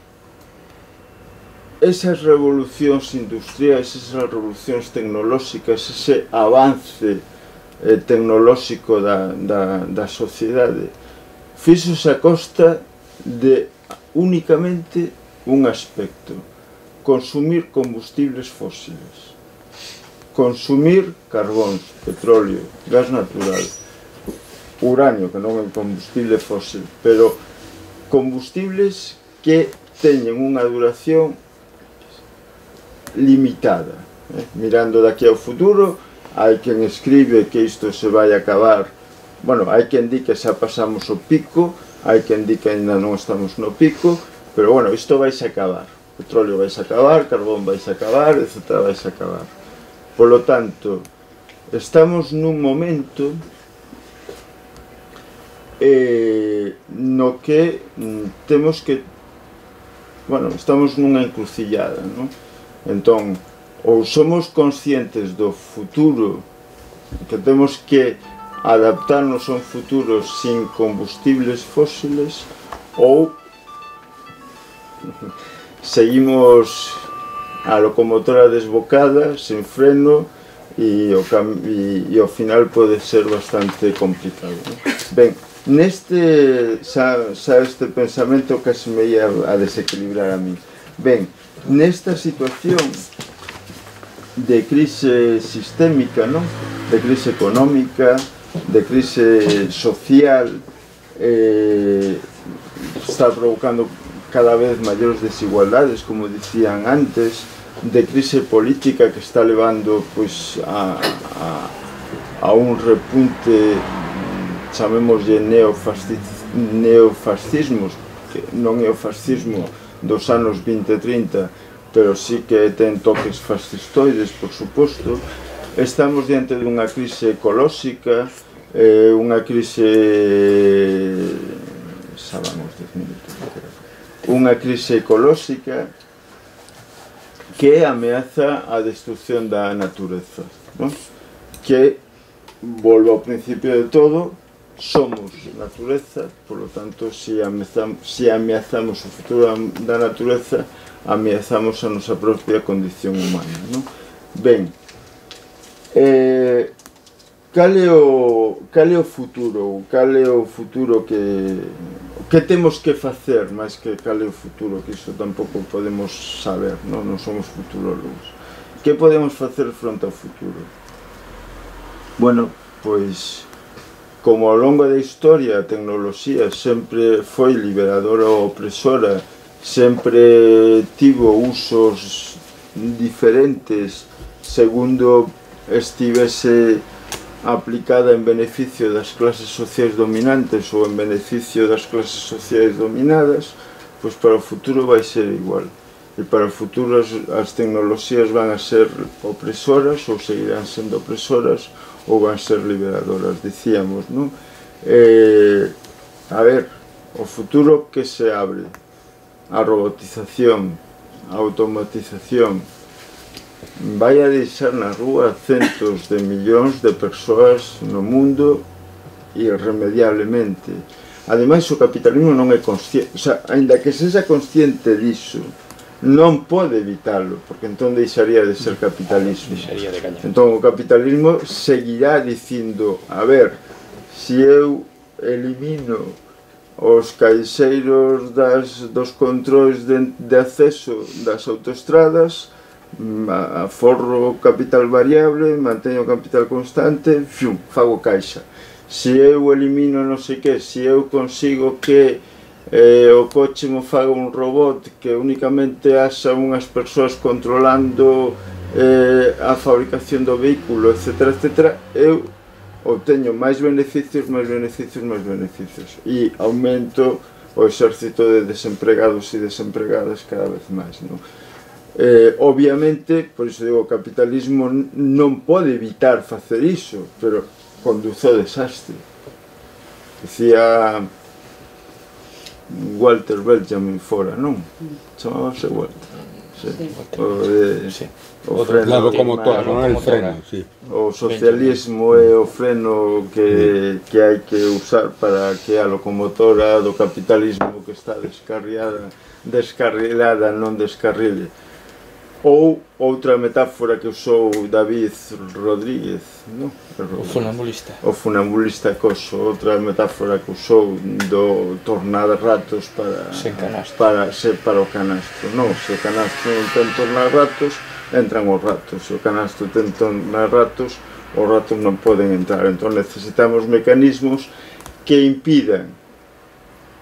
esas revolucións industriais, esas revolucións tecnolóxicas, ese avance eh, tecnolóxico da, da, da sociedade, fixose a costa de únicamente un aspecto: consumir combustibles fósiles, consumir carbóns, petróleo, gas natural, uranio, que non é un combustible fósil, pero combustibles que teñen unha duración limitada. Eh? Mirando daqui ao futuro, hai quen escribe que isto se vai acabar, bueno, hai quen di que xa pasamos o pico, hai quen di que ainda non estamos no pico, pero bueno, isto vai se acabar, petróleo vai se acabar, carbón vai se acabar, etcétera, vai se acabar. Por lo tanto, estamos nun momento eh, no que mm, temos que, bueno, estamos nunha encrucillada, non? Entón, ou somos conscientes do futuro, que temos que adaptarnos a un futuro sin combustibles fósiles, ou seguimos a locomotora desbocada, sen freno, e o, e, e ao final pode ser bastante complicado, non? Ben, neste, xa, xa este pensamento que se me ia a desequilibrar a mí. Ben, nesta situación de crise sistémica, ¿no? De crise económica, de crise social, eh, está provocando cada vez maiores desigualdades, como dicían antes, de crise política que está levando pues, a, a, a un repunte, chamémoslle neofascismos, que non é o fascismo dos anos vinte e trinta, pero sí que ten toques fascistoides, por suposto. Estamos diante dunha crise ecolóxica, eh, unha crise... xa vamos dez minutos, unha crise ecolóxica que ameaza a destrucción da natureza, non? Que, volvo ao principio de todo, somos natureza, por lo tanto, se ameazamos, si ameazamos o futuro da natureza, ameazamos a nosa propia condición humana, non? Ben, eh, cal é o, cal é o futuro, cal é o futuro que, que temos que facer, máis que cal é o futuro, que iso tampouco podemos saber, non, non somos futurólogos. Que podemos facer fronte ao futuro? Bueno, pois, como ao longo da historia a tecnoloxía sempre foi liberadora ou opresora, sempre tivo usos diferentes segundo estivese aplicada en beneficio das clases sociais dominantes ou en beneficio das clases sociais dominadas, pois para o futuro vai ser igual. E para o futuro as, as tecnoloxías van a ser opresoras ou seguirán sendo opresoras ou van ser liberadoras, dicíamos, non? Eh, a ver, o futuro que se abre, a robotización, a automatización, vai a deixar na rúa centos de millóns de persoas no mundo irremediablemente. Ademais, o capitalismo non é consciente, o sea, ainda que sexa consciente disso, non pode evitalo, porque entón deixaría de ser capitalismo. Entón o capitalismo seguirá dicindo, a ver, se eu elimino os caixeiros das, dos controis de, de acceso das autoestradas, aforro capital variable, manteño capital constante, fium, fago caixa. Se eu elimino non sei que, se eu consigo que eh, o coche mo faga un robot que únicamente haxa unhas persoas controlando eh, a fabricación do vehículo, etcétera, etcétera, eu obteño máis beneficios, máis beneficios, máis beneficios e aumento o exército de desempregados e desempregadas cada vez máis, non? Eh, obviamente, por iso digo, o capitalismo non pode evitar facer iso, pero conduce ao desastre. Dicía Walter Benjamin fora, non? Chamábase Walter. Sí. O de... Sí. O freno, la locomotora, non é el freno, sí. O socialismo é o freno que, que hai que usar para que a locomotora do capitalismo que está descarriada, descarrilada non descarrile. Ou outra metáfora que usou David Rodríguez, non? O funambulista. O funambulista coso, outra metáfora que usou do tornar ratos para, para, se, para o canastro. Non, se o canastro non ten tornar ratos, entran os ratos. Se o canastro ten tornar ratos, os ratos non poden entrar. Entón necesitamos mecanismos que impidan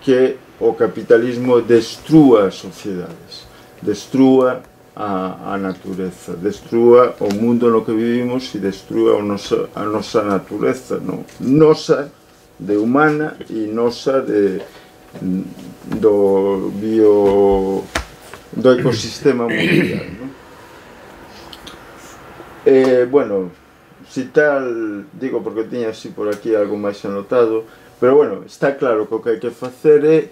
que o capitalismo destrúa as sociedades, destrúa A, a natureza, destrúa o mundo no que vivimos e destrúa o nosa, a nosa natureza, non? Nosa de humana e nosa de do bio do ecosistema mundial, non? Eh, bueno, si tal, digo porque tiña así por aquí algo máis anotado, pero bueno, está claro que o que hai que facer é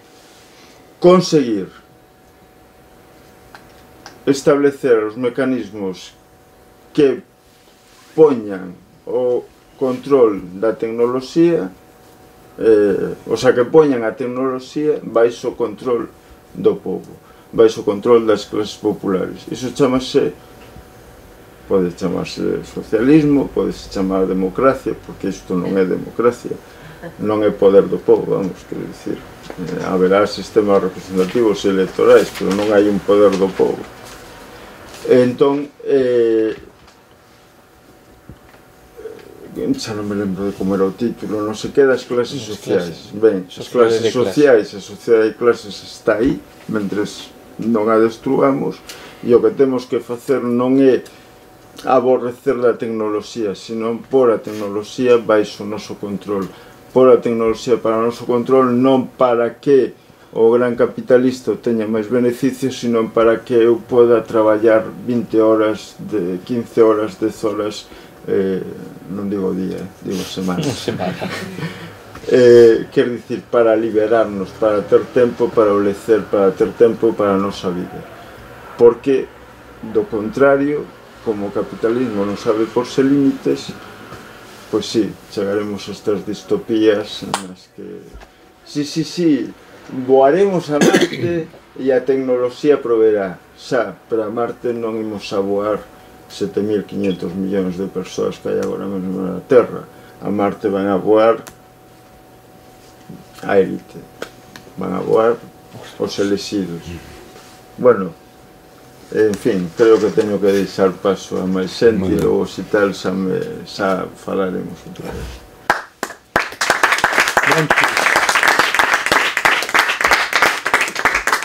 conseguir establecer os mecanismos que poñan o control da tecnoloxía, eh, o sea, que poñan a tecnoloxía baixo o control do povo, baixo o control das clases populares. Iso chamase, pode chamarse socialismo, pode chamar democracia, porque isto non é democracia, non é poder do povo, vamos, quero dicir, eh, haberá sistemas representativos e electorais, pero non hai un poder do povo. Entón, eh, xa non me lembro de como era o título, non sei que das clases sociais. Ben, as clases sociais, a sociedade de clases está aí, mentres non a destruamos, e o que temos que facer non é aborrecer da tecnoloxía, sino por a tecnoloxía baixo o noso control. Por a tecnoloxía para o noso control, non para que o gran capitalista teña máis beneficios, sino para que eu poda traballar vinte horas, de quince horas, dez horas, eh, non digo día, digo semana. Semana. eh, quer dicir, para liberarnos, para ter tempo para o lecer, para ter tempo para a nosa vida. Porque, do contrario, como o capitalismo non sabe porse límites, pois sí, chegaremos a estas distopías nas que... Sí, sí, sí, voaremos a Marte e a tecnoloxía proverá. Xa, pero a Marte non imos a voar sete mil quinhentos millóns de persoas que hai agora mesmo na Terra. A Marte van a voar a élite, van a voar os elexidos. Bueno, en fin, creo que teño que deixar paso a máis xente e logo se tal xa, me, xa falaremos outra vez.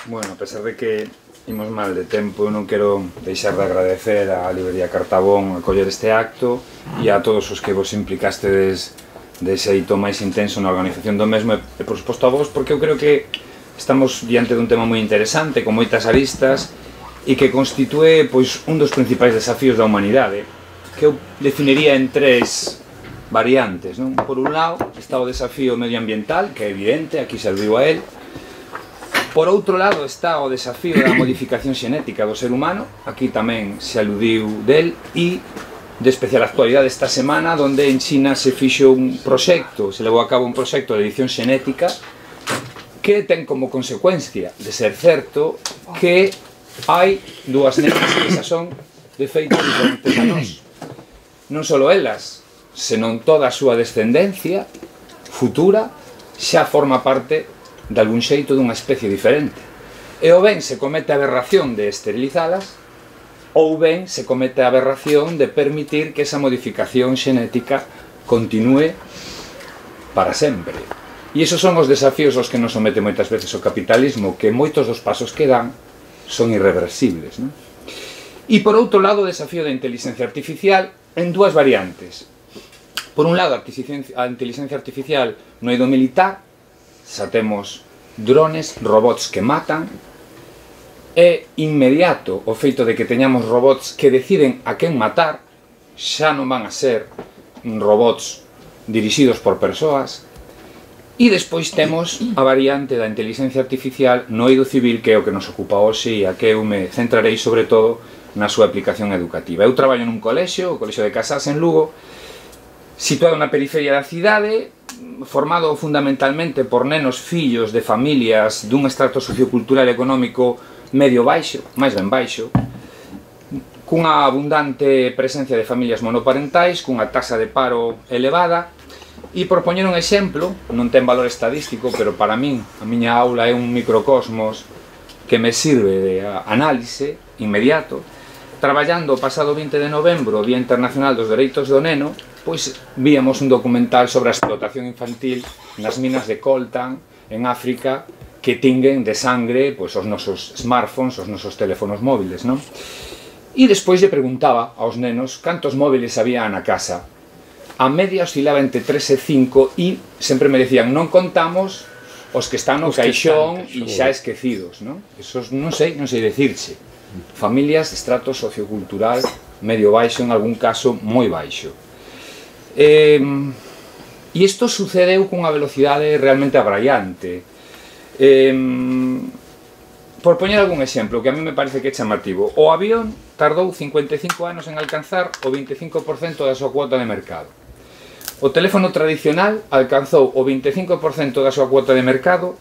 Bueno, a pesar de que imos mal de tempo, eu non quero deixar de agradecer á Librería Cartabón a coller este acto e a todos os que vos implicastes de xeito máis intenso na organización do mesmo e, por suposto, a vos, porque eu creo que estamos diante dun tema moi interesante, con moitas aristas e que constitúe pois, un dos principais desafíos da humanidade, que eu definiría en tres variantes, non? Por un lado, está o desafío medioambiental, que é evidente, aquí se aludiu a él. Por outro lado está o desafío da modificación xenética do ser humano, aquí tamén se aludiu del, e de especial actualidade esta semana, onde en China se fixo un proxecto, se levou a cabo un proxecto de edición xenética que ten como consecuencia de ser certo que hai dúas nenas que xa son de feitos diferentes a nós. Non só elas, senón toda a súa descendencia futura xa forma parte de algún xeito dunha especie diferente. E ou ben se comete a aberración de esterilizalas, ou ben se comete a aberración de permitir que esa modificación xenética continúe para sempre. E esos son os desafíos aos que nos somete moitas veces o capitalismo, que moitos dos pasos que dan son irreversibles, non? E por outro lado, o desafío da inteligencia artificial en dúas variantes. Por un lado, a inteligencia artificial no eido militar, xa temos drones, robots que matan. É inmediato o feito de que teñamos robots que deciden a quen matar, xa non van a ser robots dirixidos por persoas. E despois temos a variante da inteligencia artificial no eido civil, que é o que nos ocupa hoxe e a que eu me centrarei sobre todo na súa aplicación educativa. Eu traballo nun colexio, o Colexio de Casas en Lugo, situado na periferia da cidade, formado fundamentalmente por nenos fillos de familias dun estrato sociocultural e económico medio baixo, máis ben baixo, cunha abundante presencia de familias monoparentais, cunha taxa de paro elevada. E por poñer un exemplo, non ten valor estadístico, pero para min a miña aula é un microcosmos que me sirve de análise inmediato. Traballando o pasado vinte de novembro, o Día Internacional dos Dereitos do Neno, pois víamos un documental sobre a explotación infantil nas minas de coltan en África, que tinguen de sangre pois, os nosos smartphones, os nosos teléfonos móviles, non? E despois lle preguntaba aos nenos cantos móviles había na casa. A media oscilaba entre tres e cinco e sempre me decían non contamos os que están no caixón e xa esquecidos, non? Esos non sei, non sei decirche. Familias de estrato sociocultural medio baixo, en algún caso moi baixo. E isto sucedeu cunha velocidade realmente abraiante. Por poñer algún exemplo que a mí me parece que é chamativo, o avión tardou cincuenta e cinco anos en alcanzar o vinte e cinco por cento da súa cuota de mercado. O teléfono tradicional alcanzou o vinte e cinco por cento da súa cuota de mercado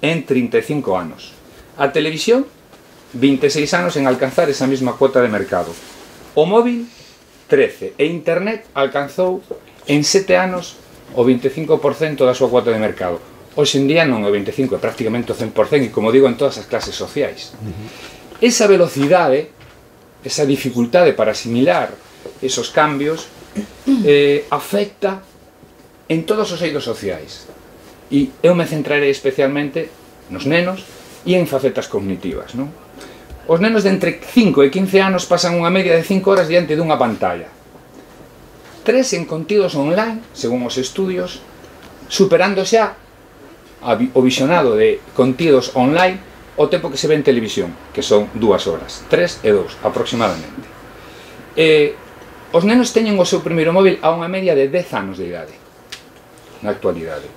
en trinta e cinco anos. A televisión, vinte e seis anos en alcanzar esa mesma cuota de mercado. O móvil, trece. E internet alcanzou en sete anos o vinte e cinco por cento da súa cuota de mercado. Hoxe en día non é o vinte e cinco por cento, é prácticamente o cen por cento, e como digo, en todas as clases sociais. Esa velocidade, esa dificultade para asimilar esos cambios, eh, afecta en todos os eidos sociais. E eu me centrarei especialmente nos nenos e en facetas cognitivas, non? Os nenos de entre cinco e quince anos pasan unha media de cinco horas diante dunha pantalla. Tres en contidos online, según os estudios, superando xa o visionado de contidos online o tempo que se ve en televisión, que son dúas horas, tres e dous aproximadamente. E os nenos teñen o seu primeiro móvil a unha media de dez anos de idade na actualidade,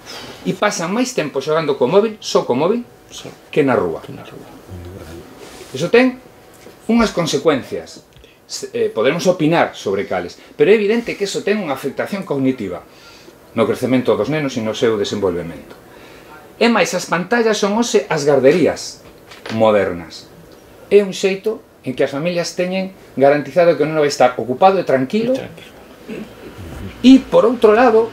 e pasan máis tempo xogando co móvil, só co móvil, que na rúa. Iso ten unhas consecuencias, eh, podemos opinar sobre cales, pero é evidente que iso ten unha afectación cognitiva no crecemento dos nenos e no seu desenvolvemento. E máis, as pantallas son hoxe as garderías modernas. É un xeito en que as familias teñen garantizado que o neno vai estar ocupado e tranquilo. E, por outro lado,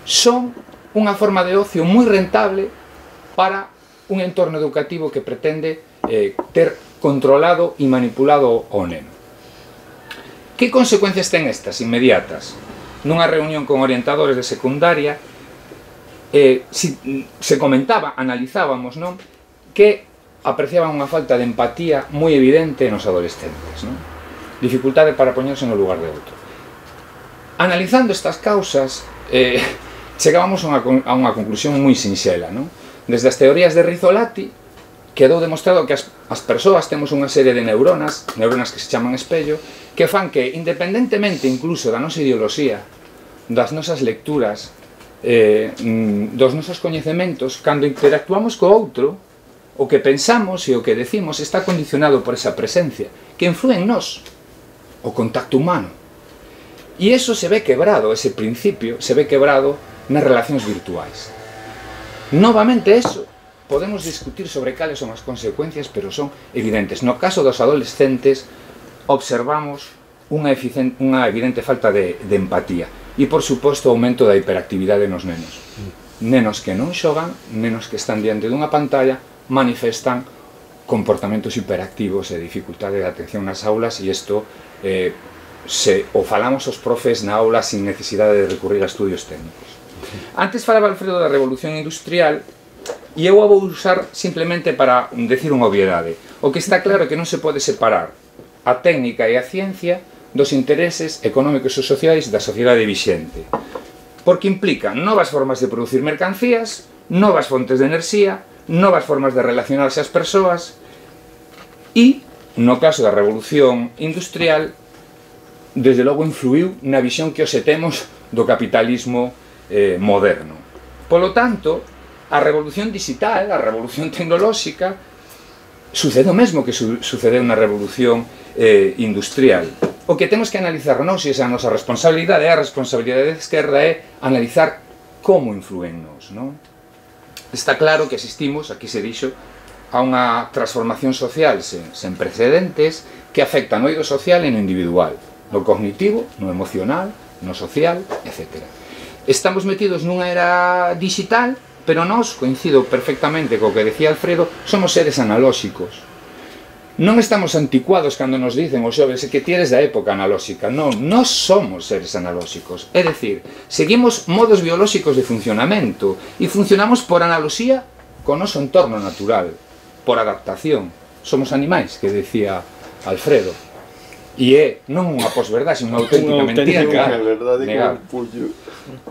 son unha forma de ocio moi rentable para un entorno educativo que pretende eh, ter controlado e manipulado o neno. Que consecuencias ten estas inmediatas? Nunha reunión con orientadores de secundaria, eh, si, se comentaba, analizábamos, non? Que apreciaban unha falta de empatía moi evidente nos adolescentes, non? Dificultade para poñerse no lugar de outro. Analizando estas causas, eh, chegábamos a unha, a unha conclusión moi sinxela, non? Desde as teorías de Rizzolatti, quedou demostrado que as, as persoas temos unha serie de neuronas, neuronas que se chaman espello, que fan que, independentemente incluso da nosa ideoloxía, das nosas lecturas, eh, dos nosos coñecementos, cando interactuamos co outro, o que pensamos e o que decimos está condicionado por esa presencia, que influe en nós, o contacto humano. E iso se ve quebrado, ese principio, se ve quebrado nas relacións virtuais. Novamente eso, podemos discutir sobre cales son as consecuencias, pero son evidentes. No caso dos adolescentes, observamos unha, unha evidente falta de, de empatía. E, por suposto, o aumento da hiperactividade nos nenos. Nenos que non xogan, nenos que están diante dunha pantalla, manifestan comportamentos hiperactivos e dificultade de atención nas aulas, e isto eh, se o falamos os profes na aula sin necesidade de recurrir a estudios técnicos. Antes falaba Alfredo da revolución industrial e eu a vou usar simplemente para decir unha obviedade. O que está claro é que non se pode separar a técnica e a ciencia dos intereses económicos e sociais da sociedade vixente, porque implica novas formas de producir mercancías, novas fontes de enerxía, novas formas de relacionarse as persoas e, no caso da revolución industrial, desde logo influiu na visión que hoxe temos do capitalismo eh, moderno. Polo tanto, a revolución digital, a revolución tecnolóxica, sucede o mesmo que su sucedeu na revolución eh, industrial. O que temos que analizar nós, e esa a nosa responsabilidade, a responsabilidade da esquerda é analizar como influen nos, non? Está claro que asistimos, aquí se dixo, a unha transformación social sen, sen precedentes que afecta no eido social e no individual, no cognitivo, no emocional, no social, etcétera. Estamos metidos nunha era digital, pero nós, coincido perfectamente co que decía Alfredo, somos seres analóxicos. Non estamos anticuados cando nos dicen os xoves que ti eres da época analóxica. Non, nós somos seres analóxicos. É dicir, seguimos modos biolóxicos de funcionamento e funcionamos por analoxía co noso entorno natural, por adaptación. Somos animais, que decía Alfredo. E é non unha posverdade, unha auténtica mentira. Negar.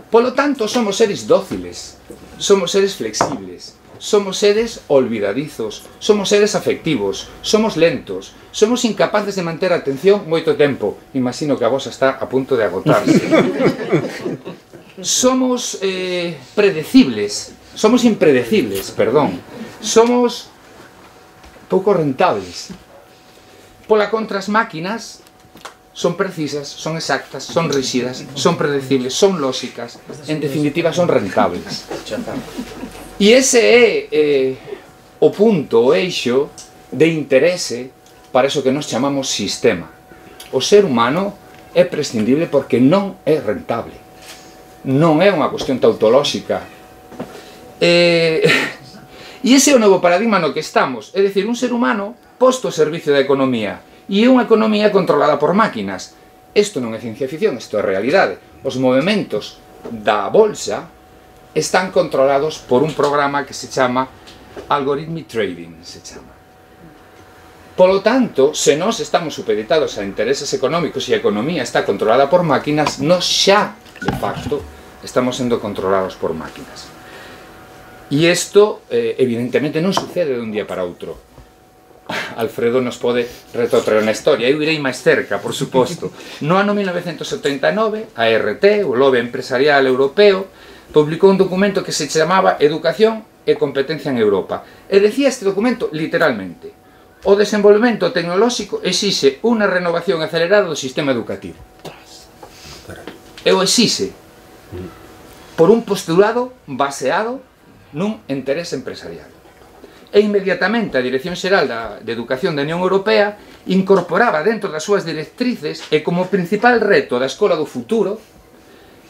Polo tanto, somos seres dóciles, somos seres flexibles, somos seres olvidadizos, somos seres afectivos, somos lentos, somos incapaces de manter a atención moito tempo. Imagino que a vosa está a punto de agotarse. Somos eh, predecibles, somos impredecibles, perdón. Somos pouco rentables. Pola contra, as máquinas son precisas, son exactas, son rígidas, son predecibles, son lóxicas, en definitiva son rentables. E ese é eh, o punto, o eixo de interese para eso que nos chamamos sistema. O ser humano é prescindible porque non é rentable, non é unha cuestión tautolóxica. E, e ese é o novo paradigma no que estamos, é dicir, un ser humano posto ao servicio da economía e unha economía controlada por máquinas. Isto non é ciencia ficción, isto é realidade. Os movimentos da bolsa están controlados por un programa que se chama Algorithmic Trading, se chama. Polo tanto, se nós estamos supeditados a intereses económicos e a economía está controlada por máquinas, nós xa, de facto, estamos sendo controlados por máquinas. E isto, eh, evidentemente, non sucede de un día para outro. Alfredo nos pode retrotraer na historia. Eu irei máis cerca, por suposto. No ano mil novecentos setenta e nove, a R T, o Lobby Empresarial Europeo, publicou un documento que se chamaba Educación e Competencia en Europa. E decía este documento literalmente: o desenvolvemento tecnolóxico exixe unha renovación acelerada do sistema educativo. E o exixe por un postulado baseado nun interese empresarial. E inmediatamente a Dirección Xeral de Educación da Unión Europea incorporaba dentro das súas directrices e como principal reto da escola do futuro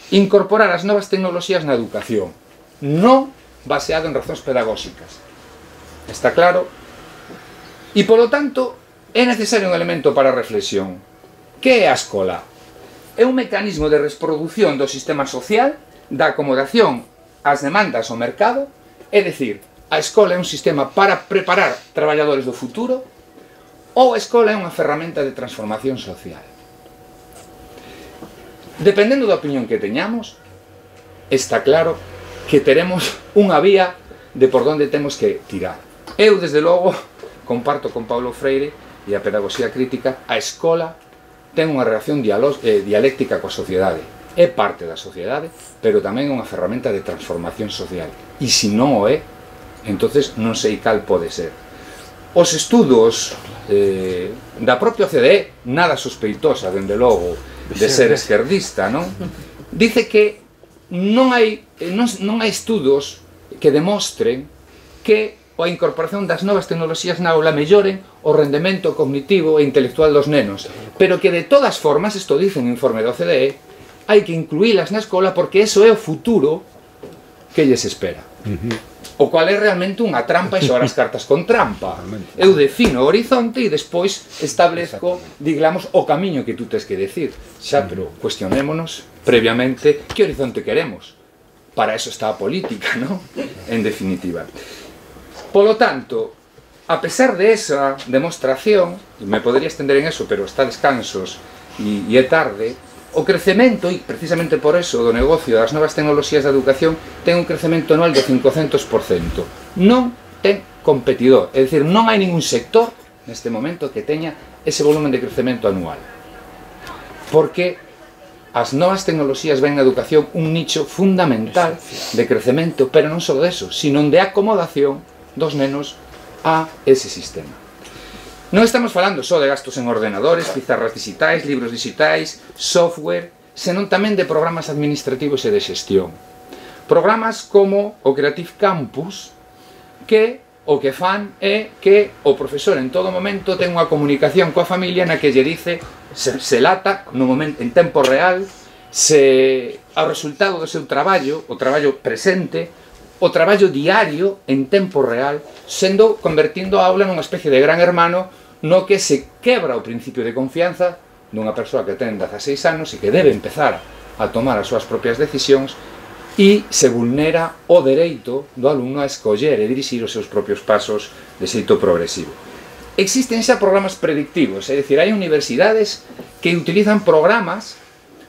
incorporar as novas tecnoloxías na educación, non baseado en razóns pedagóxicas. Está claro? E, polo tanto, é necesario un elemento para a reflexión. Que é a escola? É un mecanismo de reproducción do sistema social, da acomodación ás demandas ao mercado, é dicir, a escola é un sistema para preparar traballadores do futuro, ou a escola é unha ferramenta de transformación social. Dependendo da opinión que teñamos, está claro que teremos unha vía de por onde temos que tirar. Eu, desde logo, comparto con Paulo Freire e a pedagogía crítica, a escola ten unha relación eh, dialéctica coa sociedade. É parte da sociedade, pero tamén é unha ferramenta de transformación social. E se non o é, entonces non sei cal pode ser. Os estudos eh, da propia O C D E, nada sospeitosa, dende logo, de ser esquerdista, non? Dice que non hai, non, non hai estudos que demostren que a incorporación das novas tecnoloxías na aula melloren o rendemento cognitivo e intelectual dos nenos, pero que de todas formas, isto dice no informe do O C D E, hai que incluílas na escola porque eso é o futuro que lles espera. Uh-huh. O cual é realmente unha trampa e xogar as cartas con trampa. Eu defino o horizonte e despois establezco, digamos, o camiño que tú tes que decir. Xa, pero cuestionémonos previamente que horizonte queremos. para eso está a política, ¿no? En definitiva. Polo tanto, a pesar de esa demostración, e me podría extender en eso, pero está descansos e, e é tarde, o crecemento, e precisamente por eso, do negocio das novas tecnoloxías da educación ten un crecemento anual do cincocentos por cento. Non ten competidor, é dicir, non hai ningún sector neste momento que teña ese volumen de crecemento anual. Porque as novas tecnoloxías ven na educación un nicho fundamental de crecemento, pero non só deso, sino de acomodación dos nenos a ese sistema. Non estamos falando só de gastos en ordenadores, pizarras digitais, libros digitais, software, senón tamén de programas administrativos e de xestión. Programas como o Creative Campus, que o que fan é que o profesor en todo momento ten unha comunicación coa familia na que lle dice, se, se lata no momento, en tempo real, se ao resultado do seu traballo, o traballo presente, o traballo diario en tempo real, sendo convertindo a aula nunha especie de gran hermano no que se quebra o principio de confianza dunha persoa que ten dezaseis anos e que debe empezar a tomar as súas propias decisións e se vulnera o dereito do alumno a escoller e dirixir os seus propios pasos de xeito progresivo. Existen xa programas predictivos, é dicir, hai universidades que utilizan programas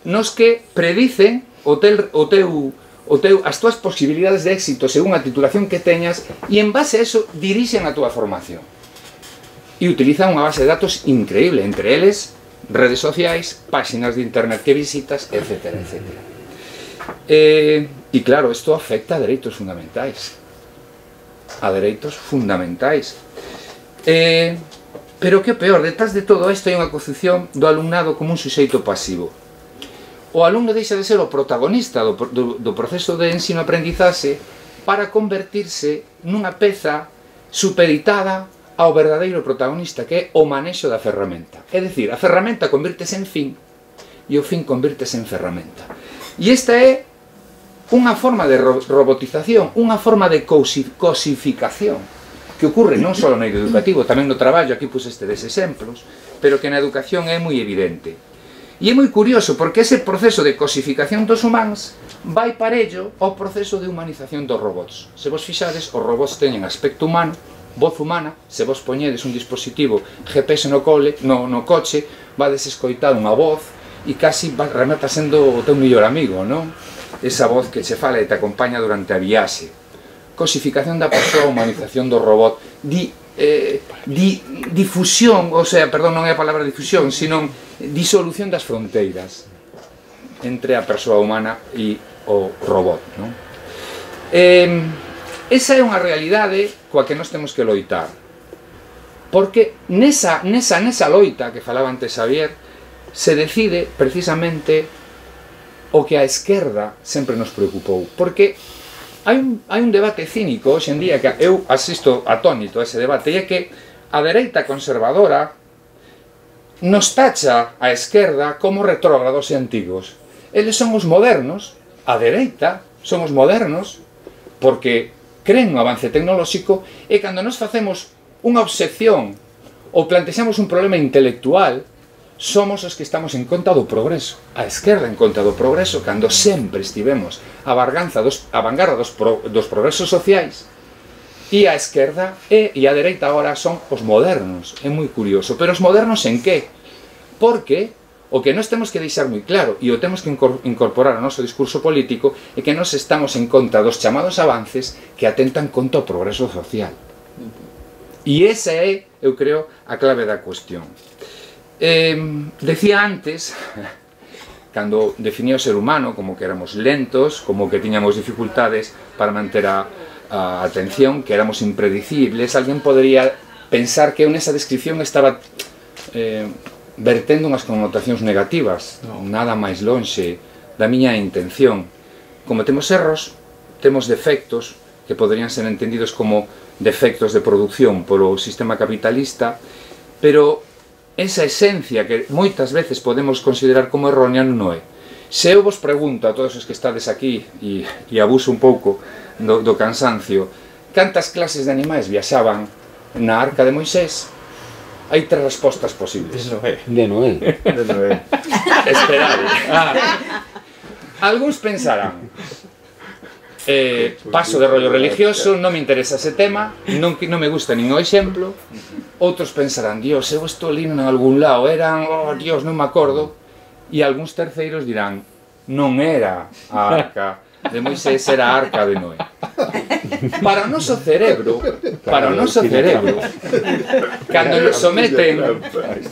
nos que predicen o teu, o teu, o teu, as túas posibilidades de éxito según a titulación que teñas e en base a eso dirixen a túa formación. E utilizan unha base de datos increíble, entre eles redes sociais, páxinas de internet que visitas, etcétera, etcétera. Eh, e claro, isto afecta a dereitos fundamentais. A dereitos fundamentais. Eh, pero que peor, detrás de todo isto hai unha concepción do alumnado como un suxeito pasivo. O alumno deixa de ser o protagonista do, do, do proceso de ensino-aprendizaxe para convertirse nunha peza supeditada ao verdadeiro protagonista, que é o manexo da ferramenta. É dicir, a ferramenta convírtese en fin e o fin convírtese en ferramenta. E esta é unha forma de ro robotización, unha forma de cosificación que ocurre non só no medio educativo, tamén no traballo, aquí puse este des exemplos, pero que na educación é moi evidente. E é moi curioso porque ese proceso de cosificación dos humanos vai parello ao proceso de humanización dos robots. Se vos fixades, os robots teñen aspecto humano, voz humana, se vos poñedes un dispositivo G P S no, cole, no, no coche, vades escoitar unha voz e casi remata sendo o teu mellor amigo, non? Esa voz que che fala e te acompaña durante a viaxe. Cosificación da persoa, humanización do robot, di, eh, di, difusión, o sea, perdón, non é a palabra difusión, sino disolución das fronteiras entre a persoa humana e o robot, non? Eh, esa é unha realidade coa que nós temos que loitar, porque nesa, nesa, nesa loita que falaba antes Xavier se decide precisamente o que a esquerda sempre nos preocupou, porque hai un, hai un debate cínico hoxe en día que eu asisto atónito a ese debate, e é que a dereita conservadora nos tacha a esquerda como retrógrados e antigos. Eles son os modernos, a dereita son os modernos, porque creen no avance tecnolóxico, e cando nos facemos unha obsección ou plantexamos un problema intelectual, somos os que estamos en conta do progreso. A esquerda en conta do progreso, cando sempre estivemos a vanguarda dos, a vanguarda dos, pro, dos progresos sociais, e a esquerda e, e a dereita agora son os modernos. É moi curioso. Pero os modernos en que? Porque o que nós temos que deixar moi claro, e o temos que incorporar ao noso discurso político, é que nós estamos en conta dos chamados avances que atentan contra o progreso social. E esa é, eu creo, a clave da cuestión. Eh, decía antes, cando definía o ser humano como que éramos lentos, como que tiñamos dificultades para manter a, a atención, que éramos impredecibles, alguén podría pensar que eu nesa descripción estaba eh, vertendo unhas connotacións negativas. No. Nada máis lonxe da miña intención. Como temos erros, temos defectos que poderían ser entendidos como defectos de producción polo sistema capitalista, pero esa esencia que moitas veces podemos considerar como errónea non é. Se eu vos pregunto a todos os que estades aquí e, e abuso un pouco do, do cansancio, cantas clases de animais viaxaban na Arca de Moisés, hai tres respostas posibles. De Noé. De Noé. De Noé. Esperade. Ah. Algúns pensarán, Eh, paso de rollo religioso, non me interesa ese tema, non, non me gusta nin o exemplo. Outros pensarán, Dios, eu estou lindo en algún lado, eran, oh Dios, non me acordo. E algúns terceiros dirán, non era a arca de Moisés, era a arca de Noé. Para o noso cerebro, para o noso cerebro, cando nos someten,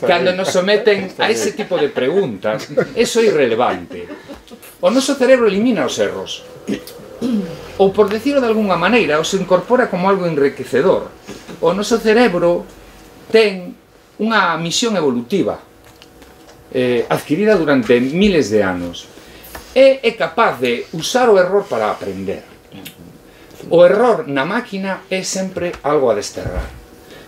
cando nos someten a ese tipo de preguntas, eso é irrelevante. O noso cerebro elimina os erros. Ou, por decirlo de alguna maneira, os incorpora como algo enriquecedor. O noso cerebro ten unha misión evolutiva eh, adquirida durante miles de anos e é capaz de usar o error para aprender. O error na máquina é sempre algo a desterrar.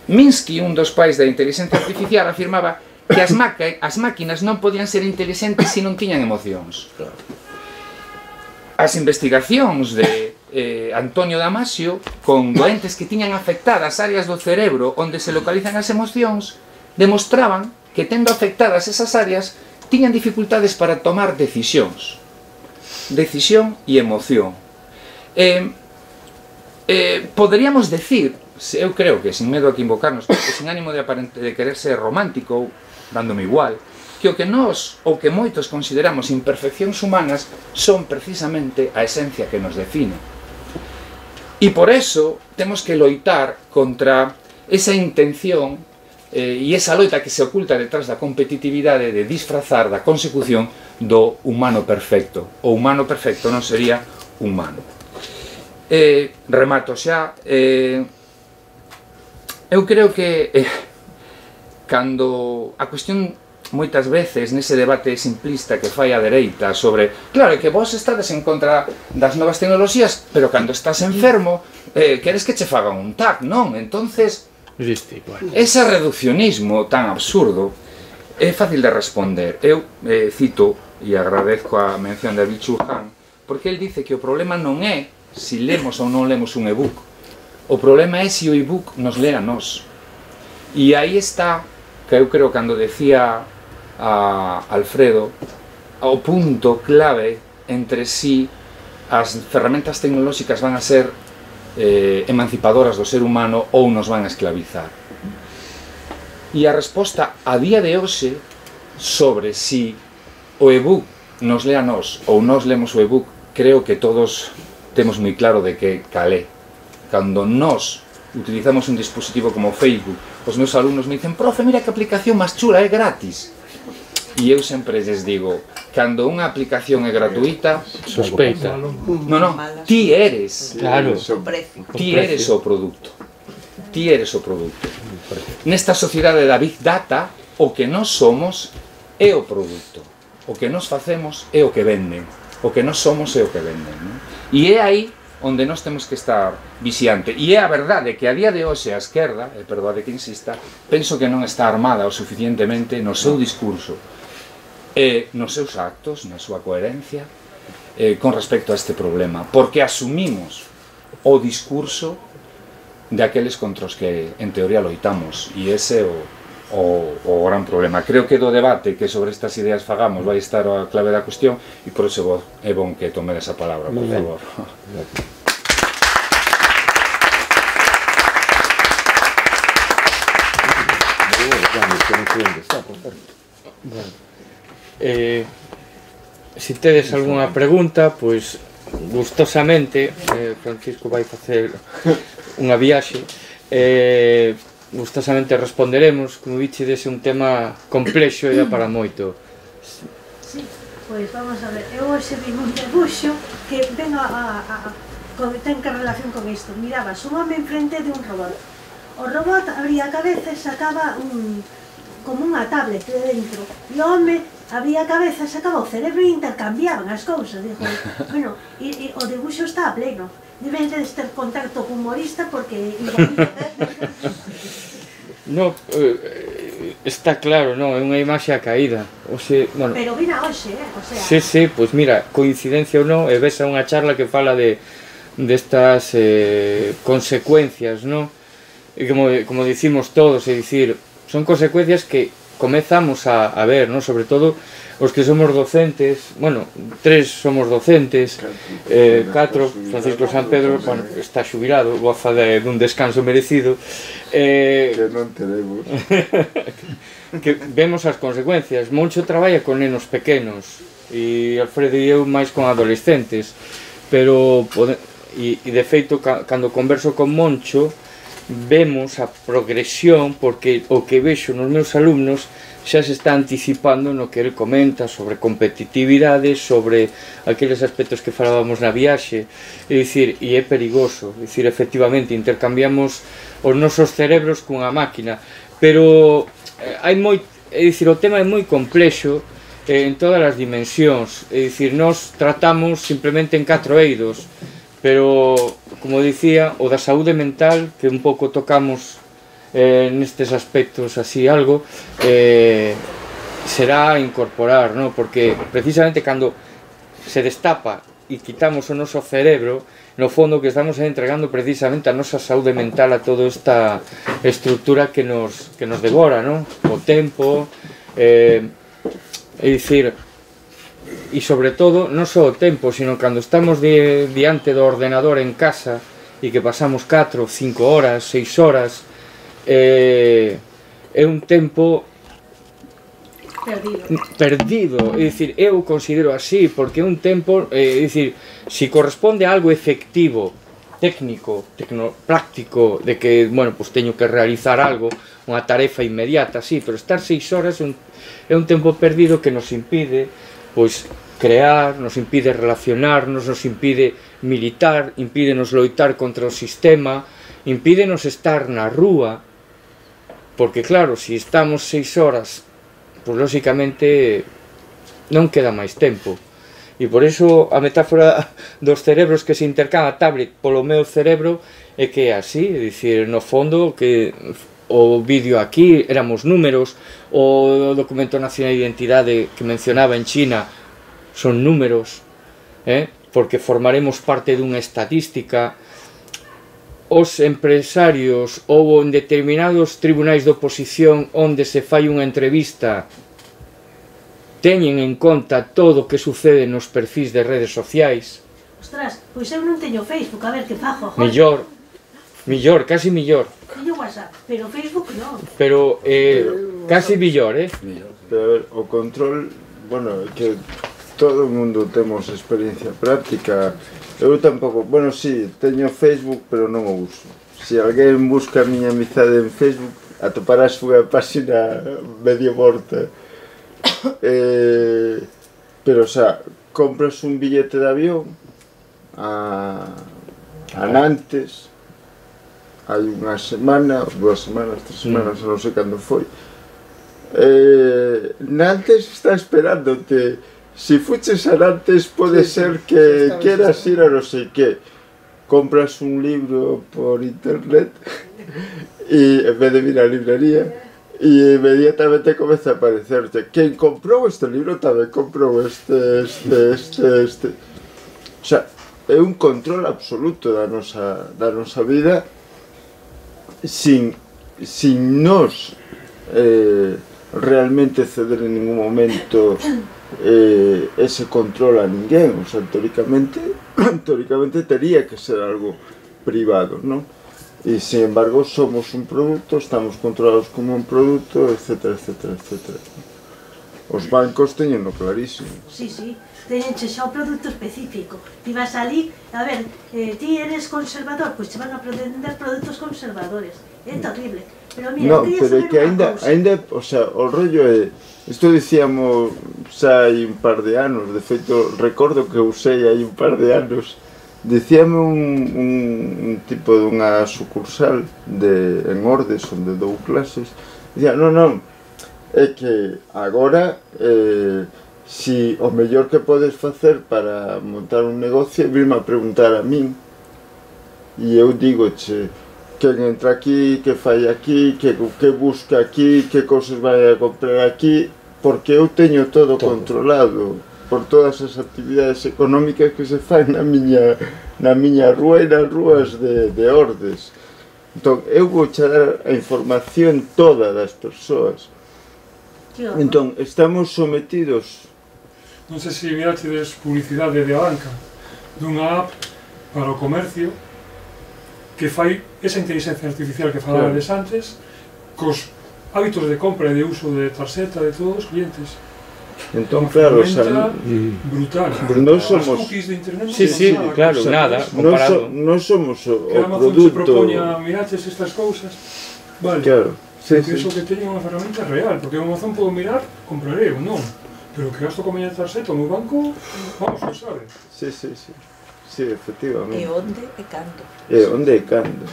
Minsky, un dos pais da inteligencia artificial, afirmaba que as, as máquinas non podían ser inteligentes se non tiñan emocións. As investigacións de eh, Antonio Damasio con doentes que tiñan afectadas áreas do cerebro onde se localizan as emocións demostraban que, tendo afectadas esas áreas, tiñan dificultades para tomar decisións. Decisión e emoción. Eh, eh, poderíamos decir, eu creo que sin medo a equivocarnos, porque sin ánimo de, aparente, de querer ser romántico, dándome igual, que o que nós, ou que moitos consideramos imperfeccións humanas, son precisamente a esencia que nos define. E por eso temos que loitar contra esa intención eh, e esa loita que se oculta detrás da competitividade de disfrazar da consecución do humano perfecto. O humano perfecto non sería humano. Eh, remato xa. Eh, eu creo que eh, cando a cuestión moitas veces nese debate simplista que fai a dereita sobre, claro, que vos estades en contra das novas tecnoloxías, pero cando estás enfermo eh, queres que che fagan un tac, non? Entonces, ese reduccionismo tan absurdo é fácil de responder. Eu eh, cito e agradezco a mención de Byung-Chul Han, porque el dice que o problema non é se lemos ou non lemos un e-book, o problema é se o e-book nos lea a nós. E aí está, que eu creo cando decía a Alfredo, o punto clave entre si as ferramentas tecnolóxicas van a ser eh, emancipadoras do ser humano ou nos van a esclavizar. E a resposta a día de hoxe sobre si o e-book nos lea a nós ou nós lemos o e-book, creo que todos temos moi claro de que calé. Cando nós utilizamos un dispositivo como Facebook, os meus alumnos me dicen, profe, mira que aplicación máis chula, é gratis. E eu sempre lles digo, cando unha aplicación é gratuita, sospeita. Non, non, ti eres, claro, ti eres o produto. Ti eres o produto. Nesta sociedade da Big Data, o que nós somos é o produto. O que nós facemos é o que venden. O que nós somos é o que venden. Non? E é aí onde nós temos que estar vixiante. E é a verdade que a día de hoxe a esquerda, e perdoade que insista, penso que non está armada o suficientemente no seu discurso e nos seus actos, na súa coherencia, eh, con respecto a este problema, porque asumimos o discurso de aqueles contra os que en teoría loitamos, e ese é o, o, o gran problema. Creo que do debate que sobre estas ideas fagamos vai estar a clave da cuestión, e por iso é bon que tome esa palabra, por favor. Bueno. Eh, se tedes algunha pregunta, pois gustosamente eh, Francisco vai facer unha viaxe, eh, gustosamente responderemos. Como dichedes, é un tema complexo e dá para moito. Sí, pois vamos a ver, eu hoxe vi un debuxo que ven a, a, a, a ten que relación con isto. Mirabas un home enfrente de un robot, o robot abría a cabeza e sacaba un como unha tablet de dentro, e o home abría a cabeza, sacaba o cerebro e intercambiaban as cousas. Digo, bueno, e, e o debuxo está a pleno, debe de ter contacto con humorista porque no, eh, está claro, non, é unha imaxe a caída. O se, bueno, pero vina hoxe, eh, o sea. Sí, sí, pois mira, coincidencia ou non, e ves a unha charla que fala de destas eh, consecuencias, non? E como, como dicimos todos, é dicir, son consecuencias que comezamos a, a ver, ¿no? Sobre todo os que somos docentes, bueno, tres somos docentes, eh, catro, Francisco San Pedro, bueno, está xubilado, goza de, dun descanso merecido, eh, que non teremos que vemos as consecuencias. Moncho traballa con nenos pequenos e Alfredo e eu máis con adolescentes, pero e, e de feito cando converso con Moncho vemos a progresión, porque o que vexo nos meus alumnos xa se está anticipando no que ele comenta sobre competitividade, sobre aqueles aspectos que falábamos na viaxe, é dicir, e é perigoso, é dicir, efectivamente, intercambiamos os nosos cerebros cunha máquina, pero hai moi, é dicir, o tema é moi complexo eh, en todas as dimensións, é dicir, nós tratamos simplemente en catro eidos, pero, como dicía, o da saúde mental, que un pouco tocamos Eh, nestes aspectos así algo, eh, será incorporar, ¿no? Porque precisamente cando se destapa e quitamos o noso cerebro, no fondo que estamos entregando precisamente a nosa saúde mental a toda esta estructura que nos, que nos devora, ¿no? O tempo, eh, é dicir, e sobre todo, non só o tempo, sino cando estamos de, diante do ordenador en casa e que pasamos catro, cinco horas, seis horas, Eh, é un tempo perdido, perdido, é dicir, eu considero así, porque é un tempo, é dicir, si corresponde a algo efectivo, técnico, tecno, práctico, de que, bueno, pues teño que realizar algo, unha tarefa inmediata, sí, pero estar seis horas é un, é un tempo perdido que nos impide, pois, crear, nos impide relacionarnos, nos impide militar, impídenos loitar contra o sistema, impídenos estar na rúa, porque claro, se si estamos seis horas, pois lóxicamente non queda máis tempo. E por iso a metáfora dos cerebros que se intercambia a tablet polo meu cerebro é que é así, é dicir, no fondo que o vídeo aquí éramos números, o documento nacional de identidade que mencionaba en China son números, eh? Porque formaremos parte dunha estadística. Os empresarios ou en determinados tribunais de oposición onde se fai unha entrevista teñen en conta todo o que sucede nos perfis de redes sociais. Ostras, pois eu non teño Facebook, a ver que fajo, joder. Millor, millor, casi millor. Teño WhatsApp, pero Facebook non. Pero, eh, casi millor, eh? Pero a ver, o control, bueno, que todo o mundo temos experiencia práctica. Eu tampouco, bueno, sí, teño Facebook, pero non o uso. Se alguén busca a miña amizade en Facebook, atoparás unha páxina medio morta. Eh, pero, o sea, compras un billete de avión a, a Nantes, hai unha semana, dúas semanas, tres semanas, non sei cando foi. Eh, Nantes está esperándote. Si fuches a Nantes pode sí, ser que queras ir a non sei que. Compras un libro por internet e en vez de ir á librería e inmediatamente comeza a aparecerte quen comprou este libro tamén comprou este, este, este, este. O sea, é un control absoluto da nosa, da nosa vida sin, sin nos eh, realmente ceder en ningún momento Eh, ese control a ninguén, o sea, teóricamente, teóricamente tería que ser algo privado, ¿no? Y sin embargo somos un producto, estamos controlados como un producto, etcétera, etcétera, etcétera. Os bancos teñenlo clarísimo. Sí, sí, teñenche xa un produto específico. Ti vas ali, a ver, eh, ti eres conservador, pois te van a vender produtos conservadores. É terrible. Pero mira, no, pero é que ainda, ainda, o sea, o rollo é, isto dicíamos xa hai un par de anos, de feito, recordo que usei hai un par de anos, dicíame un, un, un tipo dunha sucursal de, en Ordes, onde dou clases, dicía, non, non, é que agora, eh, si o mellor que podes facer para montar un negocio é virme a preguntar a min, e eu digo, che, quen entra aquí, que fai aquí, que, que busca aquí, que cousas vai a comprar aquí, porque eu teño todo, todo controlado por todas as actividades económicas que se fan na miña, na miña rúa e nas rúas de, de Ordes. Entón, eu vou dar a información toda das persoas. Entón, estamos sometidos. Non sei se mirachedes publicidade de banca dunha app para o comercio que fai esa inteligencia artificial que falabades antes cos hábitos de compra e de uso de tarxeta de todos os clientes. Entón, claro, o sea, brutal. Non somos... As cookies de internet non Sí, sí, nada, claro, o sea, nada, Non comparado. so, no somos o, que o Amazon se produto... propoña miraches estas cousas, vale, Claro, sí, que sí. iso que teña unha ferramenta real, porque en Amazon podo mirar, compraré ou non, pero que gasto con miña tarxeta no banco, vamos, que sabe. Sí, sí, sí. Sí, efectivamente. E onde e cando. E onde e cando.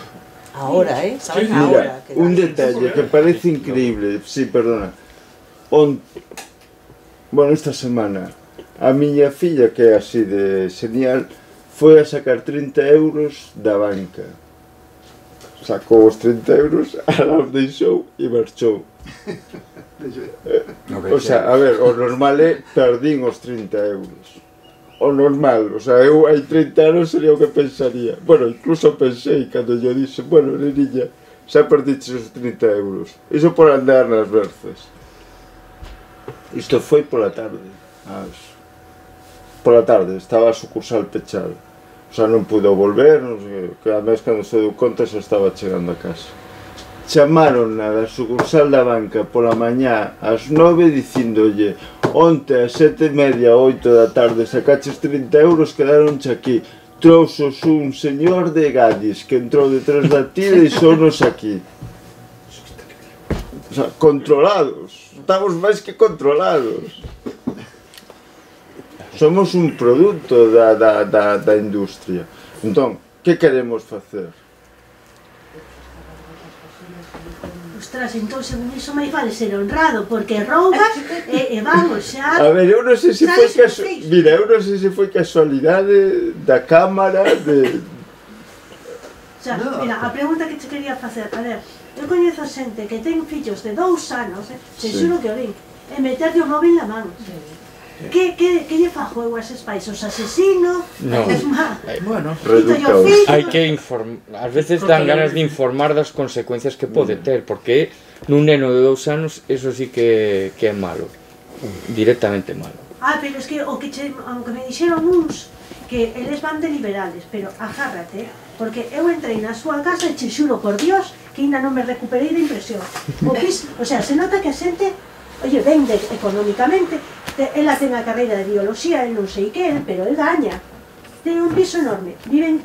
Ahora, eh? Saben Sí, ahora. Mira, un detalle que parece increíble, sí, perdona. On... Bueno, esta semana, a miña filla, que é así de genial, foi a sacar trinta euros da banca. Sacou os trinta euros, a la deixou e marchou. O sea, a ver, o normal é perdín os trinta euros. O normal, o sea, eu hai trinta anos sería o que pensaría. Bueno, incluso pensei cando yo disse, bueno, neniña, xa perdiches os trinta euros. Iso por andar nas verzas. Isto foi pola tarde. As... Pola tarde, estaba a sucursal pechada. O sea, non pudo volver, non sei, que además cando se deu conta xa estaba chegando a casa. Chamaron a da sucursal da banca pola mañá ás nove dicindolle onte ás sete e media, oito da tarde sacaches trinta euros, quedaronche aquí. Trouxos un señor de Gadis que entrou detrás da ti e deixounos aquí. O sea, controlados. Estamos máis que controlados. Somos un produto da, da, da, da industria. Entón, que queremos facer? Ostras, entón, según iso, máis vale ser honrado, porque roubas e, e vamos, xa... A ver, eu non sei se foi Sabes o que casu... fez? Mira, eu non sei se foi casualidade da cámara de... Xa, mira, a pregunta que te quería facer, a ver, eu coñezo xente que ten fillos de dous anos, eh, se Sí. xuro que o ven, e meterlle o móvil na man. Que, que, que lle fajo eu a eses pais? Os asesino? No. Es má. Bueno, Reductaos. Hai que informar, ás veces dan ganas de informar das consecuencias que pode ter, porque nun neno de dous anos eso sí que, que é malo, directamente malo. Ah, pero es que o que che, aunque me dixeron uns que eles van de liberales, pero agárrate, porque eu entrei na súa casa e che xuro por Dios que ainda non me recuperei da impresión. O, pis, o sea, se nota que a xente, oye, vende económicamente, te, ela ten a carreira de biología, e non sei que, pero el gaña. Ten un piso enorme, viven,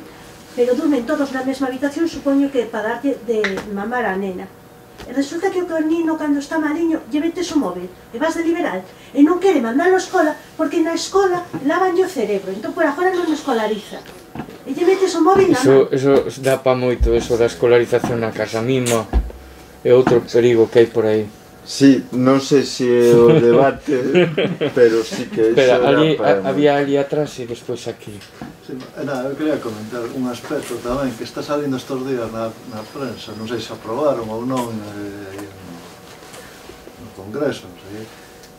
pero durmen todos na mesma habitación, supoño que para darlle de mamar a nena. E resulta que o nino, cando está maliño, lle metes o móvil, e vas de liberal, e non quere mandalo á escola, porque na escola lavanlle o cerebro, entón por agora non o escolariza. E lle metes o móvil na Eso, man. eso dá pa moito, eso da escolarización na casa mima, é outro perigo que hai por aí. Sí, non sei se é o debate, pero sí que Espera, iso ali, era para... a, había ali atrás e despois aquí. Sí, nada, eu quería comentar un aspecto tamén que está salindo estes días na, na prensa, non sei se aprobaron ou non eh, no, no Congreso, non sei,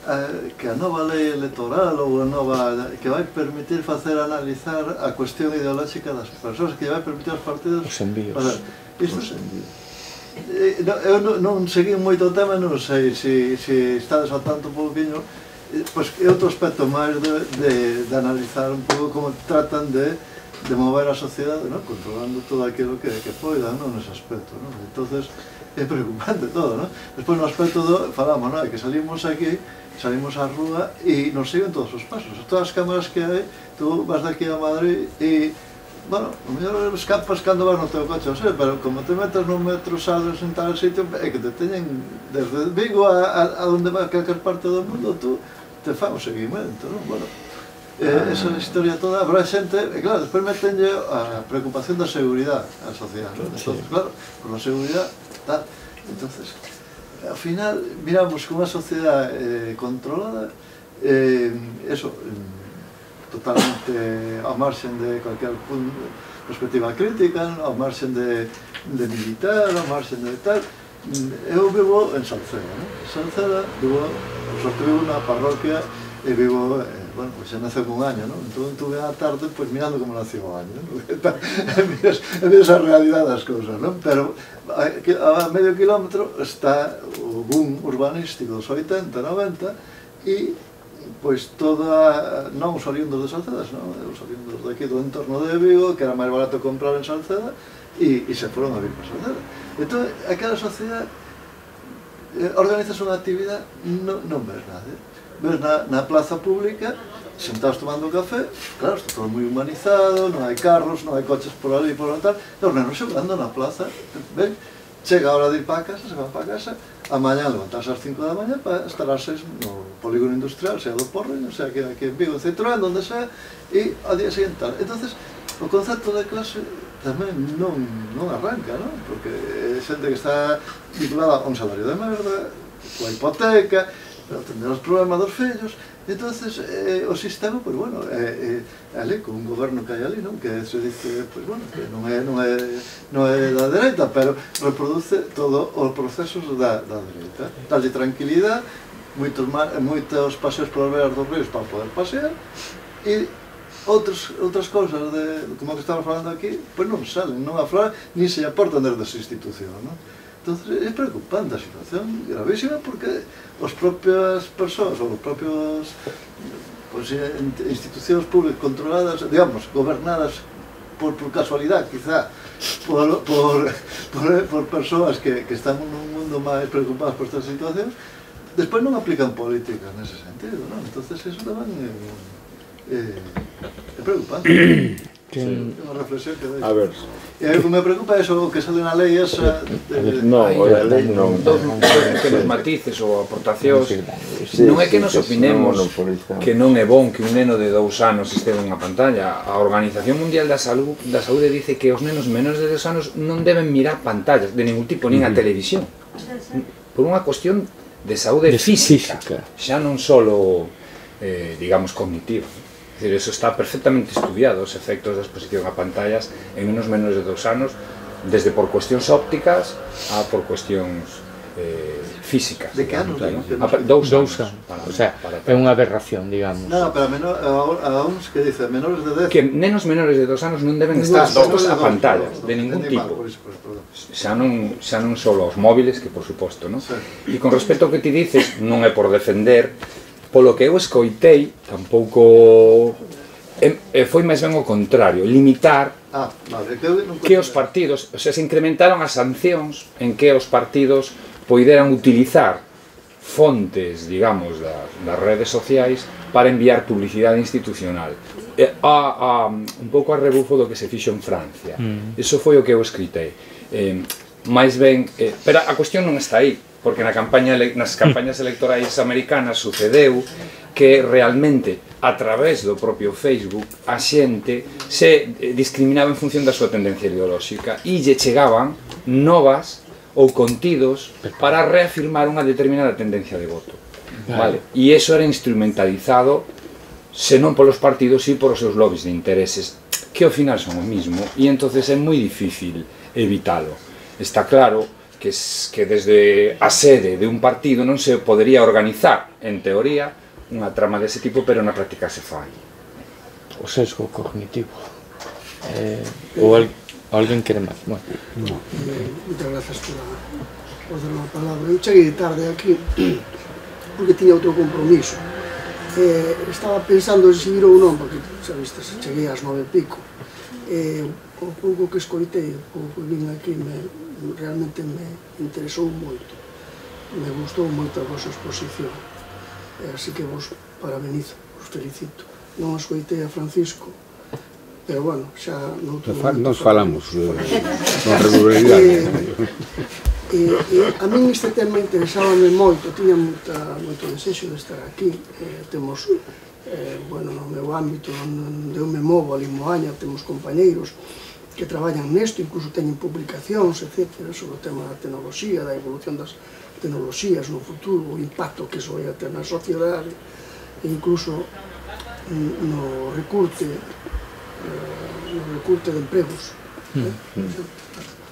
eh, que a nova lei electoral ou a nova que vai permitir facer analizar a cuestión ideolóxica das persoas, que vai permitir aos partidos... Os envíos. O sea, isto, os envíos. Eh, no, eu non, non segui moito o tema, non sei se, se estades ao tanto un pouquinho, eh, pois é outro aspecto máis de, de, de analizar un pouco como tratan de, de mover a sociedade, ¿no? Controlando todo aquilo que, que poidan, ¿no? Nese aspecto, ¿no? Entonces é preocupante todo, ¿no? Despois no aspecto do, falamos, ¿no? Que salimos aquí, salimos á rúa e nos siguen todos os pasos, todas as cámaras que hai, tú vas daqui a Madrid e bueno, o mellor escapas cando vas no teu coche, o sea, pero como te metes nun metro, sales en tal sitio, é que te teñen desde Vigo a, a, a onde vai calquer parte do mundo, tú te fan o seguimento, non? Bueno, eh, esa historia toda, pero a xente, e claro, despois metenlle a preocupación da seguridade á sociedade, non? Entonces, claro, por a seguridade, tal, entonces, ao final, miramos que unha sociedade eh, controlada, eh, eso, eh, totalmente ao marxen de cualquier perspectiva crítica, ao marxen de, de militar, ao marxen de tal. Eu vivo en Salceda, ¿no? En Salceda, vivo, por sorte vivo na parroquia e vivo en bueno, pues xa naceu un año, non? Entón tuve a tarde, pues mirando como naceu o año, non? Miras, miras a realidade das cousas, non? Pero a medio kilómetro está o boom urbanístico dos oitenta, noventa e pois toda, non os oriundos de Salceda, non? Os oriundos daqui do entorno de Vigo, que era máis barato comprar en Salceda e, e se foron a vir para Salceda. Entón, aquela sociedade organizas unha actividade, non, non ves nada. Ves na, na plaza pública, sentados tomando café, claro, está todo moi humanizado, non hai carros, non hai coches por ali, por tal, e os nenos xogando na plaza, ven, chega a hora de ir para a casa, se van para a casa, a mañá levantarse ás cinco da mañá para estar ás seis no polígono industrial, sea do Porreño, sea que aquí en Vigo, en Citroën, donde sea, e ao día seguinte tal. Entonces, o concepto de clase tamén non, non arranca, non? Porque é xente que está vinculada a un salario de merda, coa hipoteca, para atender os problemas dos fillos. Entonces, eh, o sistema, pois, bueno, é, é ali, con un goberno que hai ali, non? Que se dice, pois, bueno, que non é, non é, non é da dereita, pero reproduce todos os procesos da, da dereita. Dalle tranquilidade, moitos, moitos paseos polas beras dos ríos para poder pasear, e outras, outras cousas, de, como que estamos falando aquí, pois non salen, non afloran, nin se aportan desde esa institución, non? Entonces, é preocupante a situación, gravísima, porque as propias persoas, ou os propios pues, institucións públicas controladas, digamos, gobernadas por, por casualidade, quizá, por, por, por, por persoas que, que están nun mundo máis preocupadas por estas situacións, despois non aplican políticas nese sentido, non? Entonces, eso tamén é, é, é preocupante. Sí, unha reflexión que a ver. E a mí me preocupa eso que sale na lei esa de... Non, a lei non. Que nos matices ou aportacións non é que nos opinemos que non é bon que un neno de dous anos este nunha pantalla. A Organización Mundial da Saúde da Saúde dice que os nenos menores de dous anos non deben mirar pantallas de ningún tipo, nin a televisión, por unha cuestión de saúde física, xa non solo eh, digamos cognitiva. Es decir, eso está perfectamente estudiado, os efectos da exposición a pantallas en nenos menores de dous anos, desde por cuestións ópticas a por cuestións eh, físicas. De que anos? Claro. Dous anos. O sea, é unha aberración, digamos. Non, pero a, menor, a, a uns que dice, menores de dez... Que nenos menores de dous anos non deben estar expostos a pantallas, de ningún tipo. Xa non, xa non só os móviles, que por suposto, non? E con respecto ao que ti dices, non é por defender, polo que eu escoitei, tampouco e foi máis ben o contrario, limitar ah, vale, que, non que os partidos, o sea, se incrementaron as sancións en que os partidos poideran utilizar fontes, digamos, da, das redes sociais para enviar publicidade institucional. E, a, a, un pouco a rebufo do que se fixo en Francia. Mm. Eso foi o que eu escritei. Eh, máis ben, eh, pero a cuestión non está aí, porque na campaña, nas campañas electorais americanas sucedeu que realmente a través do propio Facebook a xente se discriminaba en función da súa tendencia ideolóxica e lle chegaban novas ou contidos para reafirmar unha determinada tendencia de voto. Vale? E iso era instrumentalizado senón polos partidos e por os seus lobbies de intereses, que ao final son o mismo, e entonces é moi difícil evitalo. Está claro que, que desde a sede de un partido non se podería organizar, en teoría, unha trama dese tipo, pero na práctica se fai. O sesgo cognitivo. Eh, ou al, alguén quere máis? Bueno. No. Eh, moitas grazas por dar a palabra. Eu cheguei tarde aquí porque tiña outro compromiso. Eh, estaba pensando en seguir ou non, porque, xa viste, cheguei ás nove e pico. Eh, o pouco que escoitei, o pouco que vin aquí, me, realmente me interesou moito. Me gustou moito a vosa exposición. Eh, así que vos parabenizo, vos felicito. Non escoitei a Francisco, pero bueno, xa... Nos falamos con regularidade. E, e a min este tema interesábame moito, tiña moita, moito desexo de estar aquí. Eh, temos, eh, bueno, no meu ámbito onde eu me movo, ali en Moaña, temos compañeiros que traballan nesto, incluso teñen publicacións, etcétera, sobre o tema da tecnoloxía, da evolución das tecnoloxías no futuro, o impacto que iso vai a ter na sociedade, e incluso no recurte, eh, no recurte de empregos. Eh?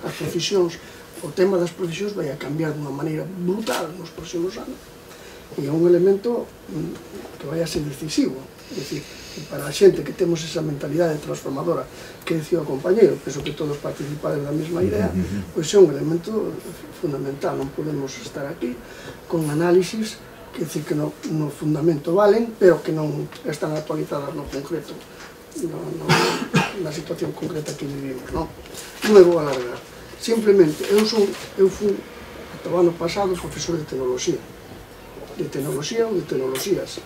As profesións, o tema das profesións vai a cambiar dunha maneira brutal nos próximos anos, e é un elemento que vai a ser decisivo. É dicir, para a xente que temos esa mentalidade transformadora que decía o compañeiro, penso que todos participades da mesma idea, pois é un elemento fundamental. Non podemos estar aquí con análisis que decir que no, no fundamento valen, pero que non están actualizadas no concreto, no, no, na situación concreta que vivimos, non? Non me vou alargar. Simplemente, eu son, eu fui, ata o ano pasado, profesor de tecnoloxía. De tecnoloxía ou de tecnoloxías.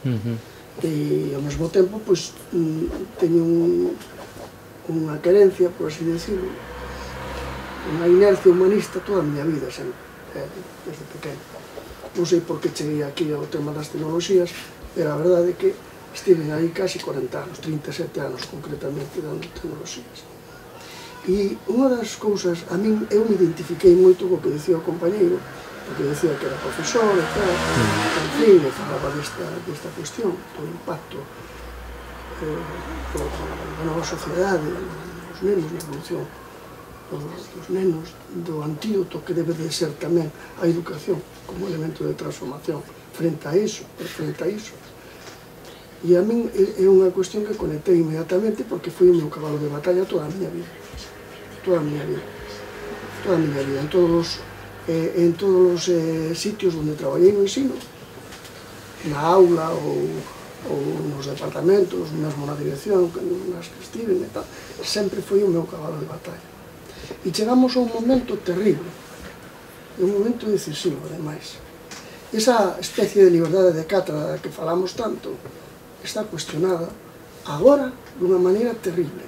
Uh-huh. E ao mesmo tempo, pois, teño un, unha querencia, por así decirlo, unha inercia humanista toda a miña vida, sempre, desde pequeno. Non sei por que cheguei aquí ao tema das tecnoloxías, pero a verdade é que estive aí casi cuarenta anos, trinta e sete anos concretamente, dando tecnoloxías. E unha das cousas, a min, eu me identifiquei moito co que decía o compañeiro, porque decía que era profesor e tal, en fin, e falaba desta, desta cuestión, do impacto eh, da nova sociedade, dos nenos, na evolución dos nenos, do antídoto que debe de ser tamén a educación como elemento de transformación frente a iso, frente a iso. E a min é unha cuestión que conectei inmediatamente porque foi o meu cabalo de batalla toda a miña vida, toda a miña vida, toda a miña vida, en todos os, eh, en todos os eh, sitios onde traballei no ensino, na aula ou, ou nos departamentos, mesmo na dirección, nas que estiven e tal, sempre foi o meu cabalo de batalla. E chegamos a un momento terrible, un momento decisivo, ademais. Esa especie de liberdade de cátedra da que falamos tanto está cuestionada agora dunha maneira terrible,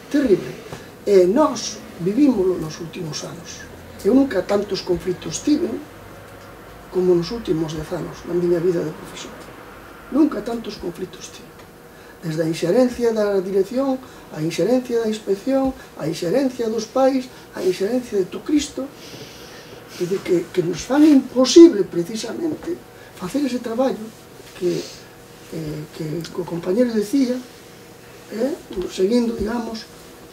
terrible. E nós vivímoslo nos últimos anos. Eu nunca tantos conflitos tive como nos últimos dez anos na miña vida de profesor. Nunca tantos conflitos tive. Desde a inxerencia da dirección, a inxerencia da inspección, a inxerencia dos pais, a inxerencia de Cristo, que, que nos fan imposible, precisamente, facer ese traballo que, eh, que o compañero decía, eh, seguindo, digamos,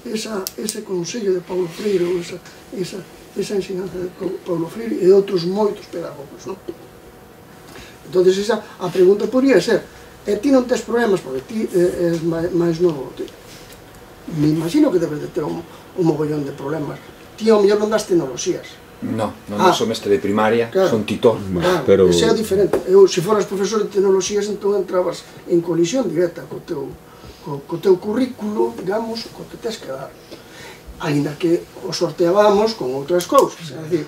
esa, ese consello de Paulo Freire, ou esa, esa, esa ensinanza de Paulo Freire e de outros moitos pedagogos, non? Entón, esa, a pregunta podría ser, e ti non tes problemas, porque ti eh, és máis novo. Me imagino que debes de ter un, un mogollón de problemas. Ti ao mellor non das tecnoloxías. No, non ah, sou mestre de primaria, claro, son titor. Claro, pero... ese é diferente. Eu, se foras profesor de tecnoloxías, entón entrabas en colisión directa co teu, co, co teu currículo, digamos, co que tes que dar. Ainda que o sorteábamos con outras cousas, é dicir,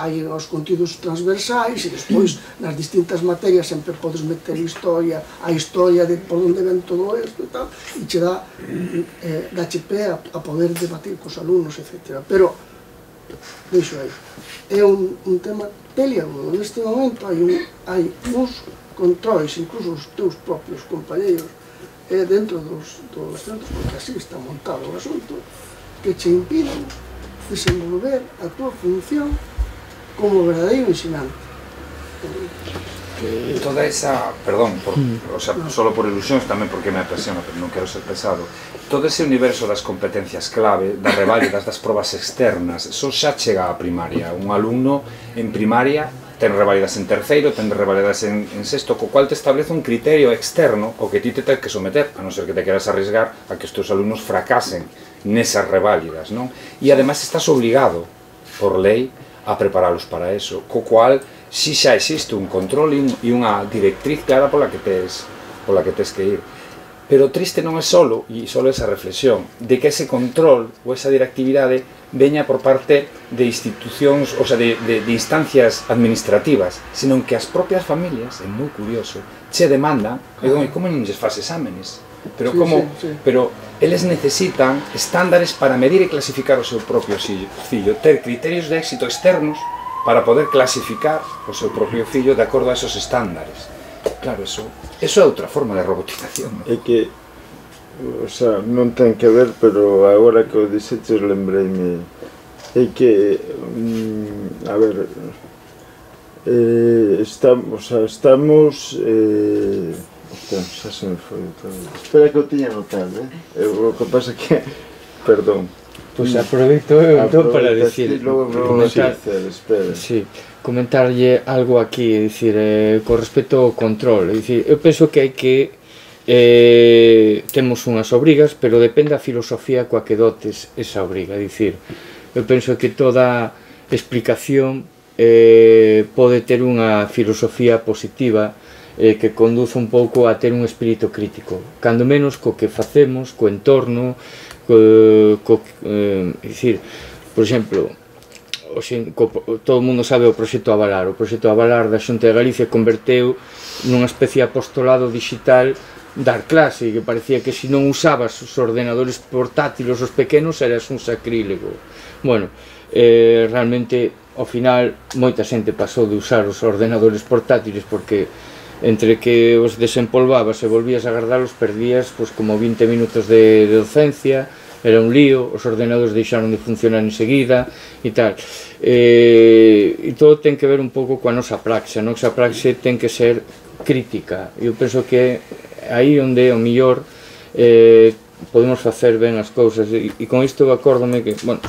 hai os contidos transversais e despois nas distintas materias sempre podes meter historia, a historia de por onde ven todo isto e tal, e che dá, eh, dache pé a, a poder debatir cos alumnos, etcétera. Pero, deixo aí, é un, un tema peliagudo. Neste momento hai, un, hai uns controis, incluso os teus propios compañeiros, eh, dentro dos, dos centros, porque así está montado o asunto, que che impiden desenvolver a túa función como verdadeiro ensinante. Toda esa, perdón, por, o sea, solo por ilusións, tamén porque me apasiona, pero non quero ser pesado, todo ese universo das competencias clave, das reválidas, das probas externas, eso xa chega a primaria. Un alumno en primaria ten reválidas en terceiro, ten reválidas en, en sexto, co cual te establece un criterio externo o que ti te tens que someter, a non ser que te queras arriesgar a que os teus alumnos fracasen nesas reválidas, non? E ademais estás obligado, por lei, a preparalos para eso, co cual si xa existe un control e unha directriz clara pola que tes, pola que tes que ir. Pero triste non é solo, e solo esa reflexión, de que ese control ou esa directividade veña por parte de institucións, o sea, de, de, de instancias administrativas, senón que as propias familias, é moi curioso, che demandan, e como non lles faz exámenes? Pero como, sí, sí, sí. Pero eles necesitan estándares para medir e clasificar o seu propio fillo, ter criterios de éxito externos para poder clasificar o seu propio fillo de acordo a esos estándares. Claro, eso, eso é outra forma de robotización, ¿no? É que, o sea, non ten que ver, pero agora que o dixeches lembreime, é que, mm, a ver, eh, estamos, o sea, estamos, eh, ostras, xa se me foi outra vez. Espera que o tiña notado, eh? O que pasa que, perdón. Pois pues aproveito eu entón para dicir, comentar, sí, comentarlle algo aquí, é dicir, eh, con respecto ao control, é dicir, eu penso que hai que eh, temos unhas obrigas, pero depende a filosofía coa que dotes esa obriga. É dicir, eu penso que toda explicación eh, pode ter unha filosofía positiva eh, que conduce un pouco a ter un espírito crítico, cando menos co que facemos, co entorno, co, co, eh, é dicir, por exemplo, Oxe, co, todo o mundo sabe o proxecto Avalar. O proxecto Avalar da Xunta de Galicia converteu nunha especie de apostolado digital dar clase, que parecía que se non usabas os ordenadores portátiles os pequenos eras un sacrílego. Bueno, eh, realmente ao final moita xente pasou de usar os ordenadores portátiles porque entre que os desempolvabas e volvías a guardalos perdías pues, como vinte minutos de, de docencia, era un lío, os ordenadores deixaron de funcionar enseguida e tal. Eh, e todo ten que ver un pouco coa nosa praxe. A nosa praxe ten que ser crítica. Eu penso que aí onde o mellor eh, podemos facer ben as cousas e, e con isto acórdome que, bueno,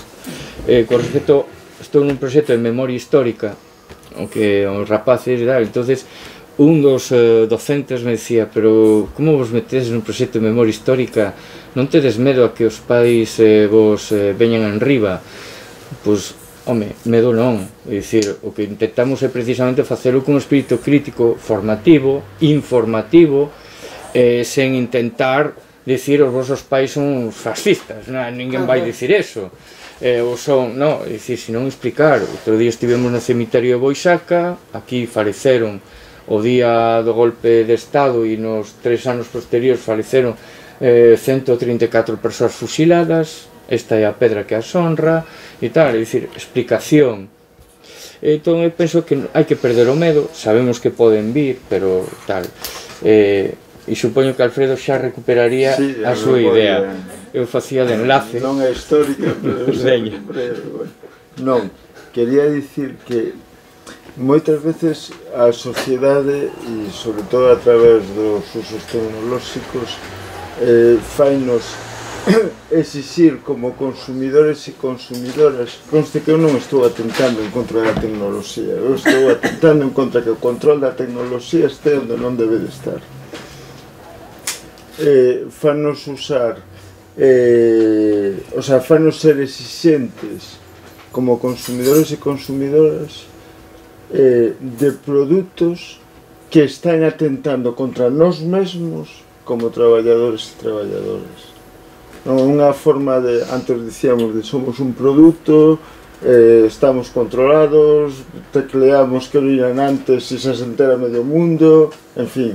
eh, con respecto, estou nun proxecto de memoria histórica o que os rapaces e tal, entonces un dos eh, docentes me decía, pero como vos metedes nun proxecto de memoria histórica, non tedes medo a que os pais eh, vos eh, veñan enriba? Pois, home, medo non, é dicir, o que intentamos é precisamente facelo con un espírito crítico, formativo, informativo, eh, sen intentar dicir os vosos pais son fascistas, non? Ninguén vai dicir eso. Eh, ou son, non, é dicir, senón explicar. Outro día estivemos no cemiterio de Boixaca, aquí faleceron o día do golpe de Estado e nos tres anos posteriores faleceron eh, ciento trinta e catro persoas fusiladas, esta é a pedra que as honra e tal, é dicir, explicación. Entón eu penso que hai que perder o medo, sabemos que poden vir, pero tal, eh, e supoño que Alfredo xa recuperaría sí, a súa idea. Eu facía de enlace. Non é histórica, pero non, quería dicir que moitas veces a sociedade, e sobre todo a través dos usos tecnolóxicos, eh, fainos exixir como consumidores e consumidoras. Conste que eu non estou atentando en contra da tecnoloxía, eu estou atentando en contra que o control da tecnoloxía este onde non debe de estar. Eh, fanos usar, eh, o sea, fanos ser exixentes como consumidores e consumidoras eh, de produtos que están atentando contra nós mesmos como traballadores e traballadoras. Non, unha forma de, antes dicíamos, de somos un produto, eh, estamos controlados, tecleamos que viran antes e se entera medio mundo, en fin.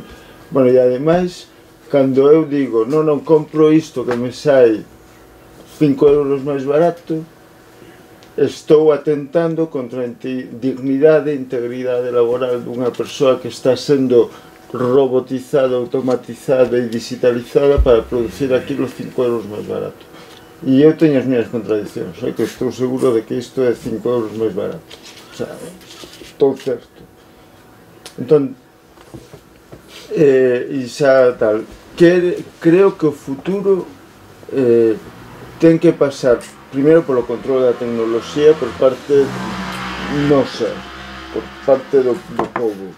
Bueno, e ademais, cando eu digo, non, non compro isto que me sai cinco euros máis barato, estou atentando contra a dignidade e integridade laboral dunha persoa que está sendo robotizada, automatizada e digitalizada para producir aquilo cinco euros máis barato. E eu teño as minhas contradicións, é que estou seguro de que isto é cinco euros máis barato. O sea, estou certo. Entón, eh, e xa tal, que, creo que o futuro eh, ten que pasar primeiro polo control da tecnoloxía por parte nosa, por parte do, do povo,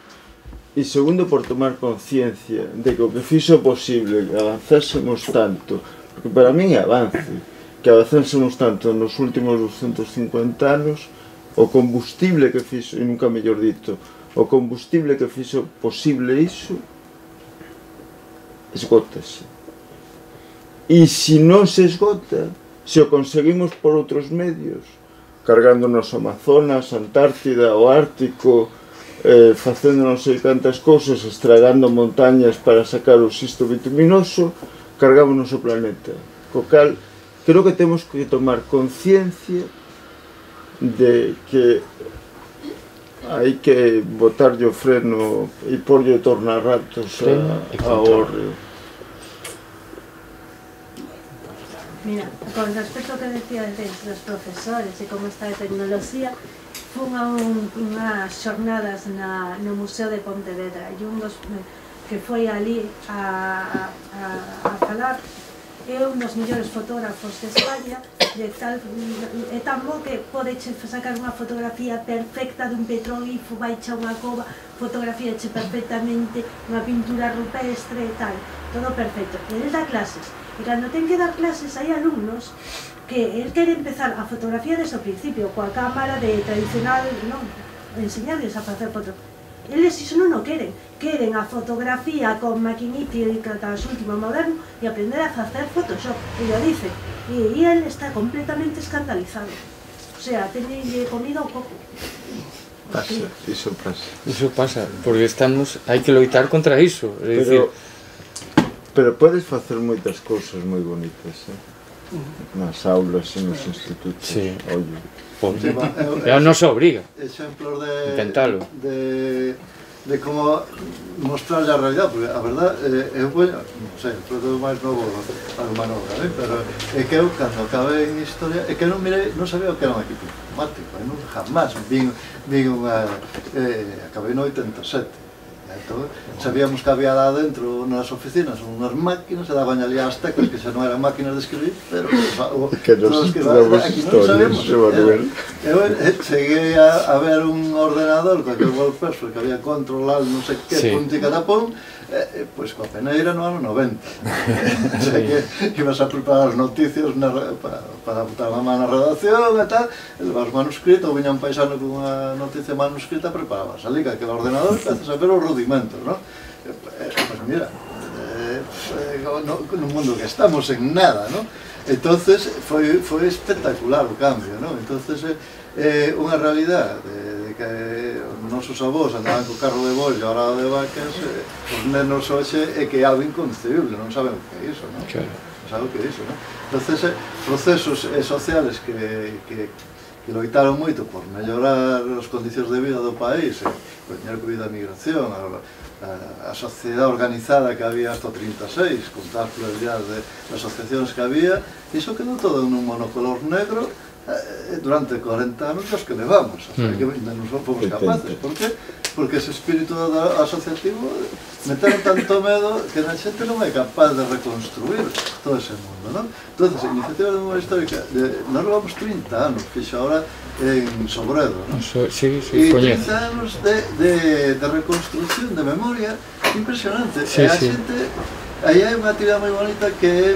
e segundo por tomar conciencia de que o que fixo posible que avanzásemos tanto, porque para min é avance, que avanzásemos tanto nos últimos doscientos cincuenta anos, o combustible que fixo, e nunca mellor dito, o combustible que fixo posible iso, esgótase. E se non se esgota, se o conseguimos por outros medios, cargándonos o Amazonas, a Antártida, o Ártico, eh, facendo non sei cantas cousas, estragando montañas para sacar o xisto bituminoso, cargámonos o planeta. Co cal, creo que temos que tomar conciencia de que hai que botarlle o freno e porlle tornarratos ao hórreo. Mira, con respecto ao que decía dos profesores e como está a tecnoloxía, fun a un, unhas xornadas na, no Museo de Pontevedra e un dos que foi ali a, a, a falar é un dos mellores fotógrafos de España, de tal, é tan bo que podeche sacar unha fotografía perfecta dun petroglifo, baixa unha cova, fotografíache perfectamente unha pintura rupestre e tal, todo perfecto. E el dá clases, e cando ten que dar clases hai alumnos que el quere empezar a fotografía desde o principio, coa cámara de tradicional, non, enseñarles a facer fotos. Eles iso non o queren, queren a fotografía con maquinítica das último moderno e aprender a facer Photoshop, e lo dice, e, e el está completamente escandalizado. O sea, tenelle comida un pouco. Pasa, iso pasa. Iso pasa, porque estamos, hai que loitar contra iso, é dicir... Pero podes facer moitas cousas moi bonitas, eh? Nas aulas e nos institutos. Sí. Ollo. Sí, va, É a nosa obriga. Exemplos de... Intentalo. De, de como mostrarle a realidad, porque a verdad, eh, eu poño, non sei, todo máis novo algo manobra, eh? Pero é que eu, cando acabei en historia, é que non mirei, non sabía o que era un equipo informático, eh? Non, jamás vin, vin unha... Eh, acabei no oitenta e sete. Entón, sabíamos que había lá dentro nas oficinas unhas máquinas, e daban ali as teclas que xa non eran máquinas de escribir, pero o, que nos novas historias, eu, eu cheguei a, a ver un ordenador con aquel wallpaper que había control al non sei que, sí. Punto e catapón, eh, pois coa peneira no ano noventa. O sea que ibas a preparar as noticias na, para, para botar a má na redacción e tal, e levas manuscrito, ou viña un paisano con unha noticia manuscrita, preparabas ali que aquel ordenador e empezas a ver os rudimentos, ¿no? Eh, eh, pues mira, eh, eh, no, no mundo que estamos en nada, ¿no? Entonces foi, foi espectacular o cambio, ¿no? Entonces é eh, unha realidad de, de que os nosos avós andaban co carro de bollo arado de vacas, eh, os nenos hoxe é que é algo inconcebible, non saben o que é iso, ¿no? Claro. Non saben o que é iso, ¿no? Entonces, eh, procesos eh, sociales que, que, que loitaron moito por mellorar as condicións de vida do país, eh, por teñer que vida a migración, a, a, a sociedade organizada que había hasta o trinta e seis, con tal pluralidade de, de asociacións que había, iso quedou todo nun monocolor negro eh, durante cuarenta anos os que levamos, o sea, que ainda non fomos capaces. Por que? Porque ese espírito asociativo meteron tanto medo que a xente non é capaz de reconstruir todo ese mundo, non? Entón, a Iniciativa de Memoria Histórica, de, nós levamos trinta anos, fixo ahora en Sobredo, non? So, sí, sí, e trinta anos de, de, de reconstrucción de memoria impresionante. Sí, e a sí. Xente, aí hai unha actividade moi bonita que é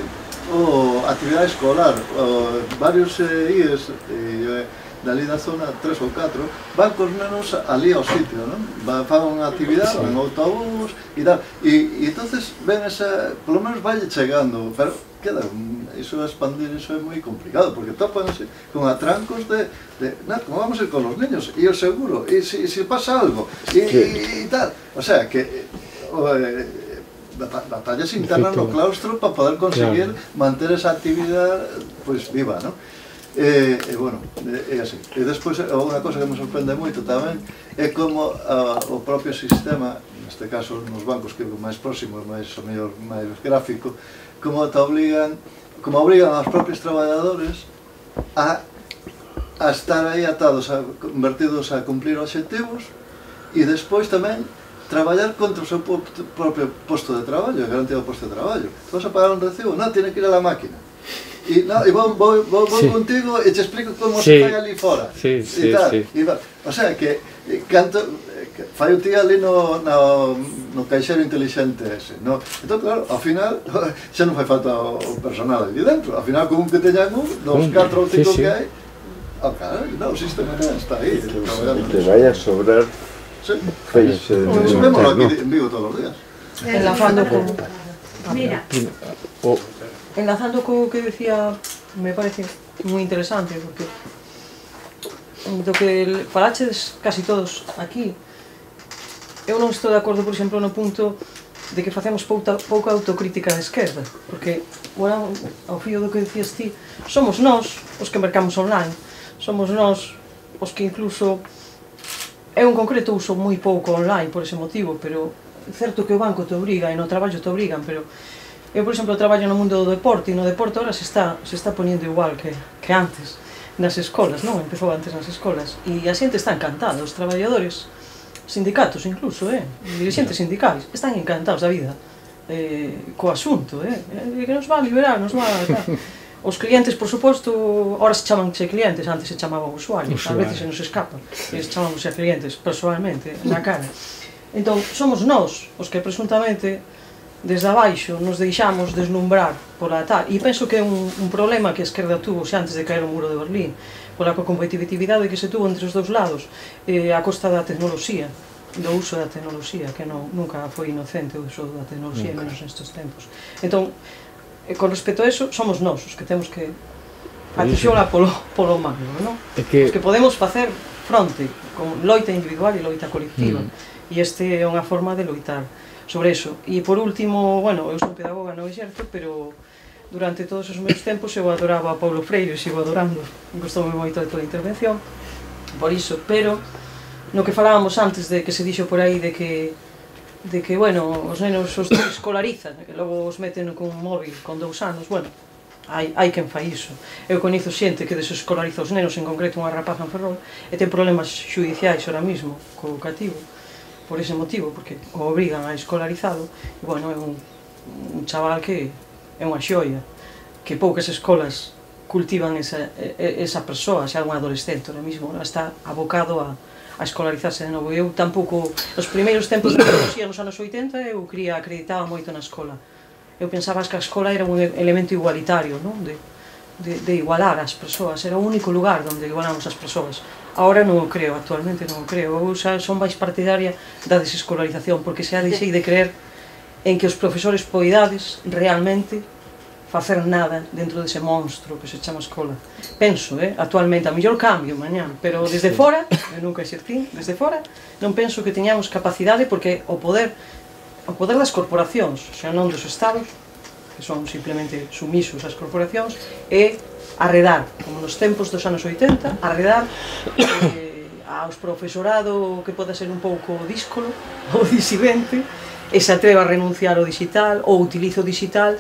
o actividade escolar, o, varios eh, I E S eh, dali da zona tres ou catro van cos nenos ali ao sitio, non? Van, fan unha actividade, sí. En autobús e tal, e, e entonces ven esa, polo menos vai chegando, pero queda, iso a expandir, iso é moi complicado, porque topanse con atrancos de, de na, como vamos a ir con os niños, e o seguro, e se, se pasa algo, e, e, e tal, o sea, que o, eh, batallas internas no claustro para poder conseguir claro. Manter esa actividade pues, viva, ¿no? E, e bueno, é así. E despois, unha cosa que me sorprende moito tamén é como a, o propio sistema, neste caso nos bancos que é máis próximo, máis, o mellor, máis gráfico, como te obligan, como obrigan aos propios traballadores a, a estar aí atados, a, convertidos a cumplir obxectivos e despois tamén traballar contra o seu propio posto de traballo, a garantía do posto de traballo. Vas a pagar un recibo? Non, tiene que ir a la máquina. E, no, e vou, vou, vou, vou sí. Contigo e te explico como sí. Se fai ali fora. Sí, sí, tal. Sí. E, o sea, que canto, que fai o tío ali no, no, no caixero inteligente ese, no? Entón, claro, ao final, xa non fai falta o personal ali dentro. Ao final, con un que teñan un, dos, catro ou cinco sí, sí. Que hai, oh, claro, no, o sistema está aí. Te vai a sobrar. Sí. Feixe. Vémoslo aquí en Vigo todos os días. Enlazando con... Mira. Oh. Enlazando co que decía, me parece moi interesante, porque do que falaches casi todos aquí, eu non estou de acordo, por exemplo, no punto de que facemos pouca, pouca autocrítica da esquerda, porque, bueno, ao fío do que decías ti, somos nós os que mercamos online, somos nós os que incluso... Eu en concreto uso moi pouco online por ese motivo, pero é certo que o banco te obriga e no traballo te obrigan, pero eu, por exemplo, traballo no mundo do deporte e no deporte ahora se está, se está poniendo igual que, que antes nas escolas, non? Empezou antes nas escolas e a xente está encantada, os traballadores, sindicatos incluso, eh? Dirixentes sindicais, están encantados da vida eh, co asunto, eh? eh? que nos va a liberar, nos va a... Tal. Os clientes, por suposto, ahora se chamanse clientes, antes se chamaban usuarios, a veces se nos escapan, e se chamamos a clientes, personalmente, na cara. Entón, somos nós os que presuntamente, desde abaixo, nos deixamos deslumbrar pola tal, e penso que é un, un problema que a esquerda tuvo xa antes de caer o muro de Berlín, pola competitividade que se tuvo entre os dous lados, eh, a costa da tecnoloxía, do uso da tecnoloxía, que non, nunca foi inocente o uso da tecnoloxía, menos nestes tempos. Entón, E con respecto a eso, somos nós os que temos que atixola polo, polo magno, non? É que... Os que podemos facer fronte con loita individual e loita colectiva. Mm. E este é unha forma de loitar sobre eso. E por último, bueno, eu son pedagoga no exerto, pero durante todos os meus tempos eu adoraba a Paulo Freire, sigo adorando, gostoume moito de toda a intervención, por iso, pero no que falábamos antes de que se dixo por aí de que de que, bueno, os nenos os escolarizan, que logo os meten con un móvil con dous anos, bueno, hai, hai quen fai iso. Eu coñezo xente que desescolariza os nenos, en concreto unha rapaza en Ferrol, e ten problemas xudiciais ahora mismo co cativo, por ese motivo, porque o obrigan a escolarizado, e, bueno, é un, un chaval que é unha xoia, que poucas escolas cultivan esa, esa persoa, xa é un adolescente ahora mismo, está abocado a a escolarizarse de novo. Eu tampouco, nos primeiros tempos de tecnoloxía nos anos oitenta, eu quería, acreditaba moito na escola. Eu pensaba que a escola era un elemento igualitario, non? De, de, de igualar as persoas, era o único lugar onde igualamos as persoas. Ahora non o creo, actualmente non o creo. Eu xa son máis partidaria da desescolarización, porque xa deixei de creer en que os profesores poidades realmente facer nada dentro dese monstro que se chama escola. Penso, eh, actualmente, a mellor cambio mañán, pero desde fora, eu nunca exercín, desde fora, non penso que teñamos capacidade, porque o poder, o poder das corporacións, xa non dos estados, que son simplemente sumisos ás corporacións, é arredar, como nos tempos dos anos oitenta, arredar eh, aos profesorado que pode ser un pouco díscolo ou disidente, e se atreva a renunciar ao digital ou utilizo o digital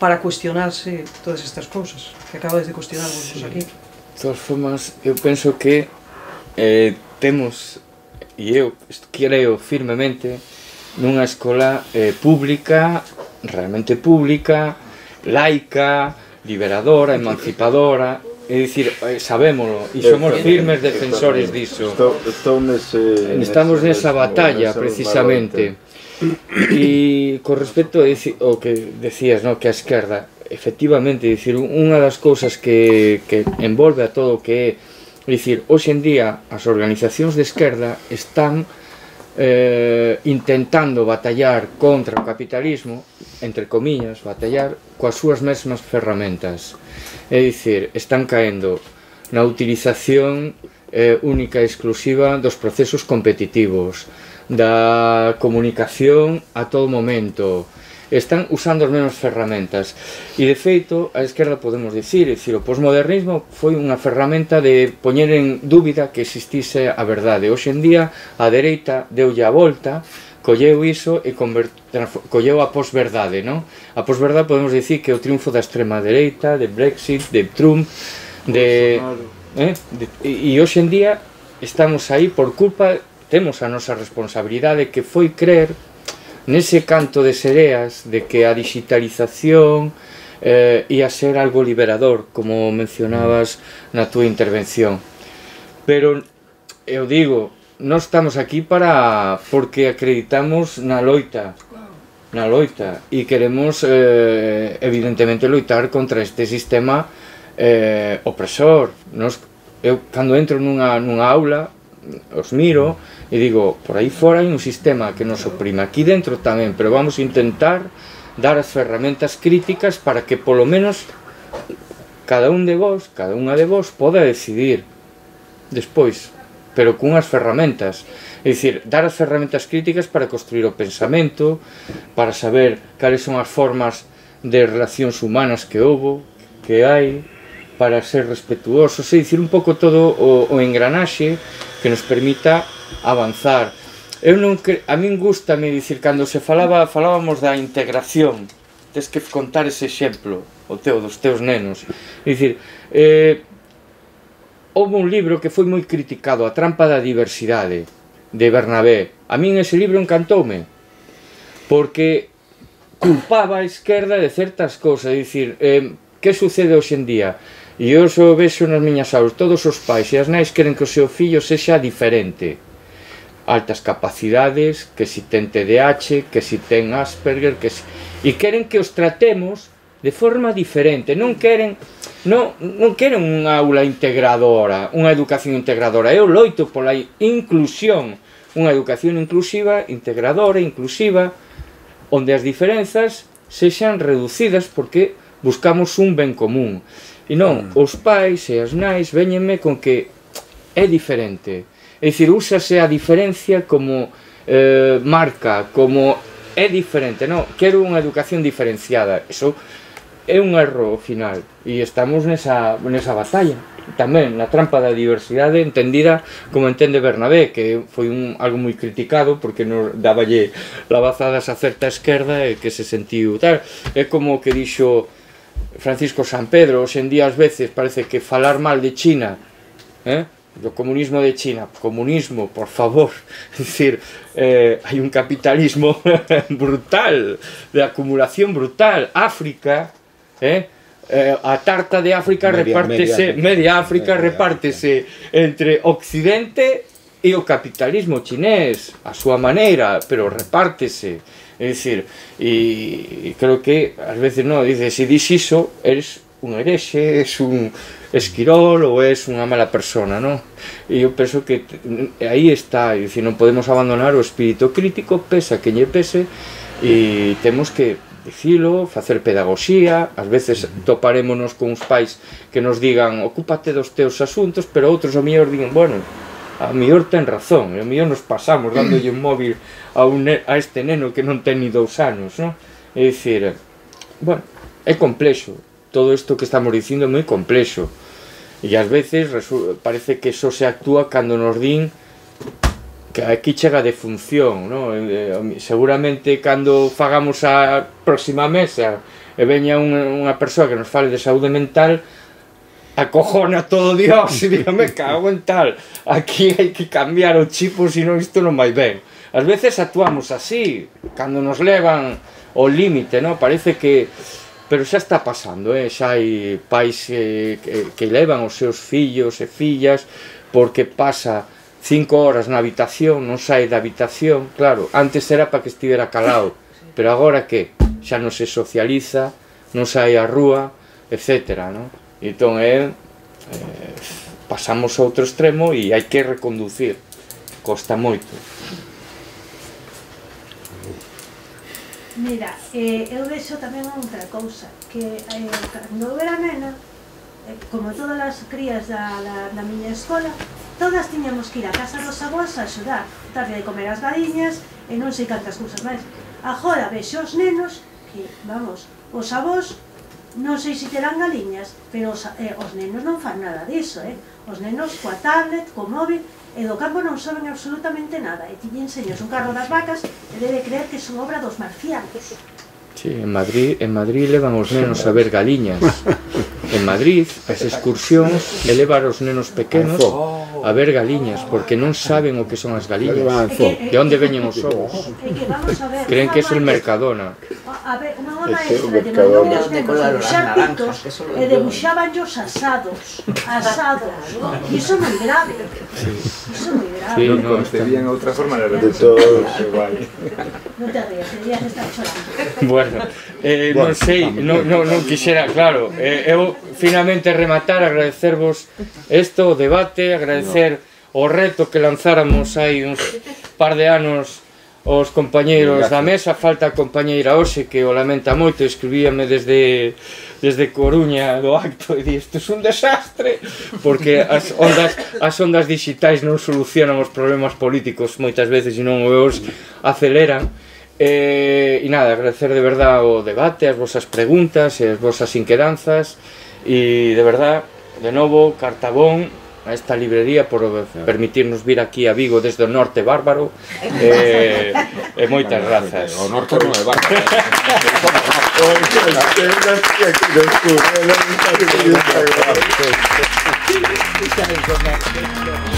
para cuestionarse todas estas cousas que acabades de cuestionarvos sí. aquí. De todas formas, eu penso que eh, temos, e eu creo firmemente, nunha escola eh, pública, realmente pública, laica, liberadora, emancipadora, é dicir, sabémolo, e somos firmes defensores diso. Estamos nesa batalla, precisamente. E con respecto ao que decías, no, que a esquerda, efectivamente, dicir, unha das cousas que, que envolve a todo o que é, dicir, hoxe en día as organizacións de esquerda están eh, intentando batallar contra o capitalismo, entre comillas, batallar coas súas mesmas ferramentas. É dicir, están caendo na utilización eh, única e exclusiva dos procesos competitivos, da comunicación a todo momento, están usando as mesmas ferramentas e de feito a esquerda podemos dicir, dicir o posmodernismo foi unha ferramenta de poñer en dúbida que existise a verdade. Hoxe en día a dereita deulle a volta, colleu iso e colleu a posverdade, non? A posverdade podemos dicir que é o triunfo da extrema dereita, de Brexit, de Trump, de, eh, de e hoxe en día estamos aí por culpa, temos a nosa responsabilidade, que foi crer nese canto de sereas de que a digitalización eh, ia ser algo liberador, como mencionabas na túa intervención. Pero eu digo, nós estamos aquí para porque acreditamos na loita, na loita, e queremos eh, evidentemente loitar contra este sistema eh, opresor. Nos, eu, cando entro nunha, nunha aula, os miro e digo, por aí fora hai un sistema que nos oprime, aquí dentro tamén, pero vamos a intentar dar as ferramentas críticas para que polo menos cada un de vos, cada unha de vos poda decidir despois, pero cunhas ferramentas, é dicir, dar as ferramentas críticas para construir o pensamento, para saber cales son as formas de relacións humanas que houbo, que hai, para ser respetuosos, é dicir, un pouco todo o, o engranaxe que nos permita avanzar. Eu non cre... a min gustame dicir, cando se falaba, falábamos da integración, tes que contar ese exemplo, o teu, dos teus nenos. É dicir, eh, houve un libro que foi moi criticado, A trampa da diversidade, de Bernabé. A min ese libro encantoume, porque culpaba a esquerda de certas cousas, é dicir, eh, que sucede hoxe en día? E eu xo vexo nas miñas aulas, todos os pais e as nais queren que o seu fillo sexa diferente, altas capacidades, que si ten T D A H, que si ten Asperger, que si... e queren que os tratemos de forma diferente, non queren non, non queren unha aula integradora, unha educación integradora. Eu loito pola inclusión, unha educación inclusiva, integradora, inclusiva, onde as diferenzas sexan reducidas porque buscamos un ben común. E non, os pais e as nais véñenme con que é diferente. É dicir, úsase a diferencia como eh, marca, como é diferente, non? Quero unha educación diferenciada. Eso é un erro final. E estamos nesa, nesa batalla. Tamén na trampa da diversidade entendida como entende Bernabé, que foi un, algo moi criticado porque nos daballe lavazadas a certa esquerda e que se sentiu tal. É como que dixo Francisco San Pedro, hoxe en día ás veces parece que falar mal de China, eh? do comunismo de China, comunismo, por favor, é dicir, eh, hai un capitalismo brutal, de acumulación brutal. África, eh? Eh, a tarta de África media, repártese, media, media África media, repártese entre Occidente e o capitalismo chinés, a súa maneira, pero repártese. É dicir, e creo que ás veces non, dice, se dis iso, eres un herexe, es un esquirol ou es unha mala persona, non? E eu penso que aí está, é dicir, non podemos abandonar o espírito crítico, pesa que lle pese, e temos que dicilo, facer pedagogía. Ás veces toparémonos con uns pais que nos digan ocúpate dos teus asuntos, pero outros ao mellor digan, bueno, a mellor ten razón, e a mellor nos pasamos dándolle un móvil a, un a este neno que non ten ni dous anos, non? É dicir, bueno, é complexo, todo isto que estamos dicindo é moi complexo, e ás veces parece que só se actúa cando nos din que aquí chega de función, non? Seguramente cando fagamos a próxima mesa e veña unha, unha persoa que nos fale de saúde mental, acojona todo Dios e diga, me cago en tal, aquí hai que cambiar o chip, senón isto non vai ben. Ás veces actuamos así, cando nos levan ao límite, non? Parece que... Pero xa está pasando, eh? Xa hai pais eh, que, que levan os seus fillos e fillas porque pasa cinco horas na habitación, non sai da habitación. Claro, antes era para que estivera calado, pero agora que? Xa non se socializa, non sai á rúa, etcétera, non? Entón, é, eh, pasamos a outro extremo e hai que reconducir, costa moito. Mira, eh, eu vexo tamén outra cousa, que eh, cando eu era nena, eh, como todas as crías da, da, da miña escola, todas tiñamos que ir a casa dos avós a axudar, darlle de comer as galiñas e non sei cantas cousas máis. Agora vexo os nenos que, vamos, os avós non sei se terán galiñas, pero os, eh, os nenos non fan nada diso, eh? Os nenos coa tablet, co móvil, e do campo non saben absolutamente nada, e ti lle enseñas un carro das vacas e debe creer que son obra dos marcianos. Sí, en Madrid, en Madrid levan os nenos a ver galiñas. En Madrid, as excursións elevan os nenos pequenos a ver galiñas, porque non saben o que son as galiñas, de onde veñen os ovos. Creen que é el Mercadona. A ver, unha maestra lle mandou os nenos a debuxar pitos e debuxaban os asados, asados, e iso moi grave, iso moi grave. Non concebían outra forma de todos igual. Non te rías, deberías estar chorando. Bueno, eh, non sei, non, non, non quixera, claro, eh, eu finalmente rematar, agradecervos isto, o debate, agradecer o reto que lanzáramos hai uns par de anos os compañeiros da mesa. Falta a compañeira hoxe que o lamenta moito, escribíame desde desde Coruña do acto e di, isto é un desastre, porque as ondas as ondas digitais non solucionan os problemas políticos moitas veces e non os aceleran. E, e nada, agradecer de verdad o debate, as vosas preguntas e as vosas inquedanzas, e de verdad, de novo, Cartabón, a esta librería por permitirnos vir aquí a Vigo desde o norte bárbaro, e, e moitas grazas. O norte non é bárbaro. Gracias.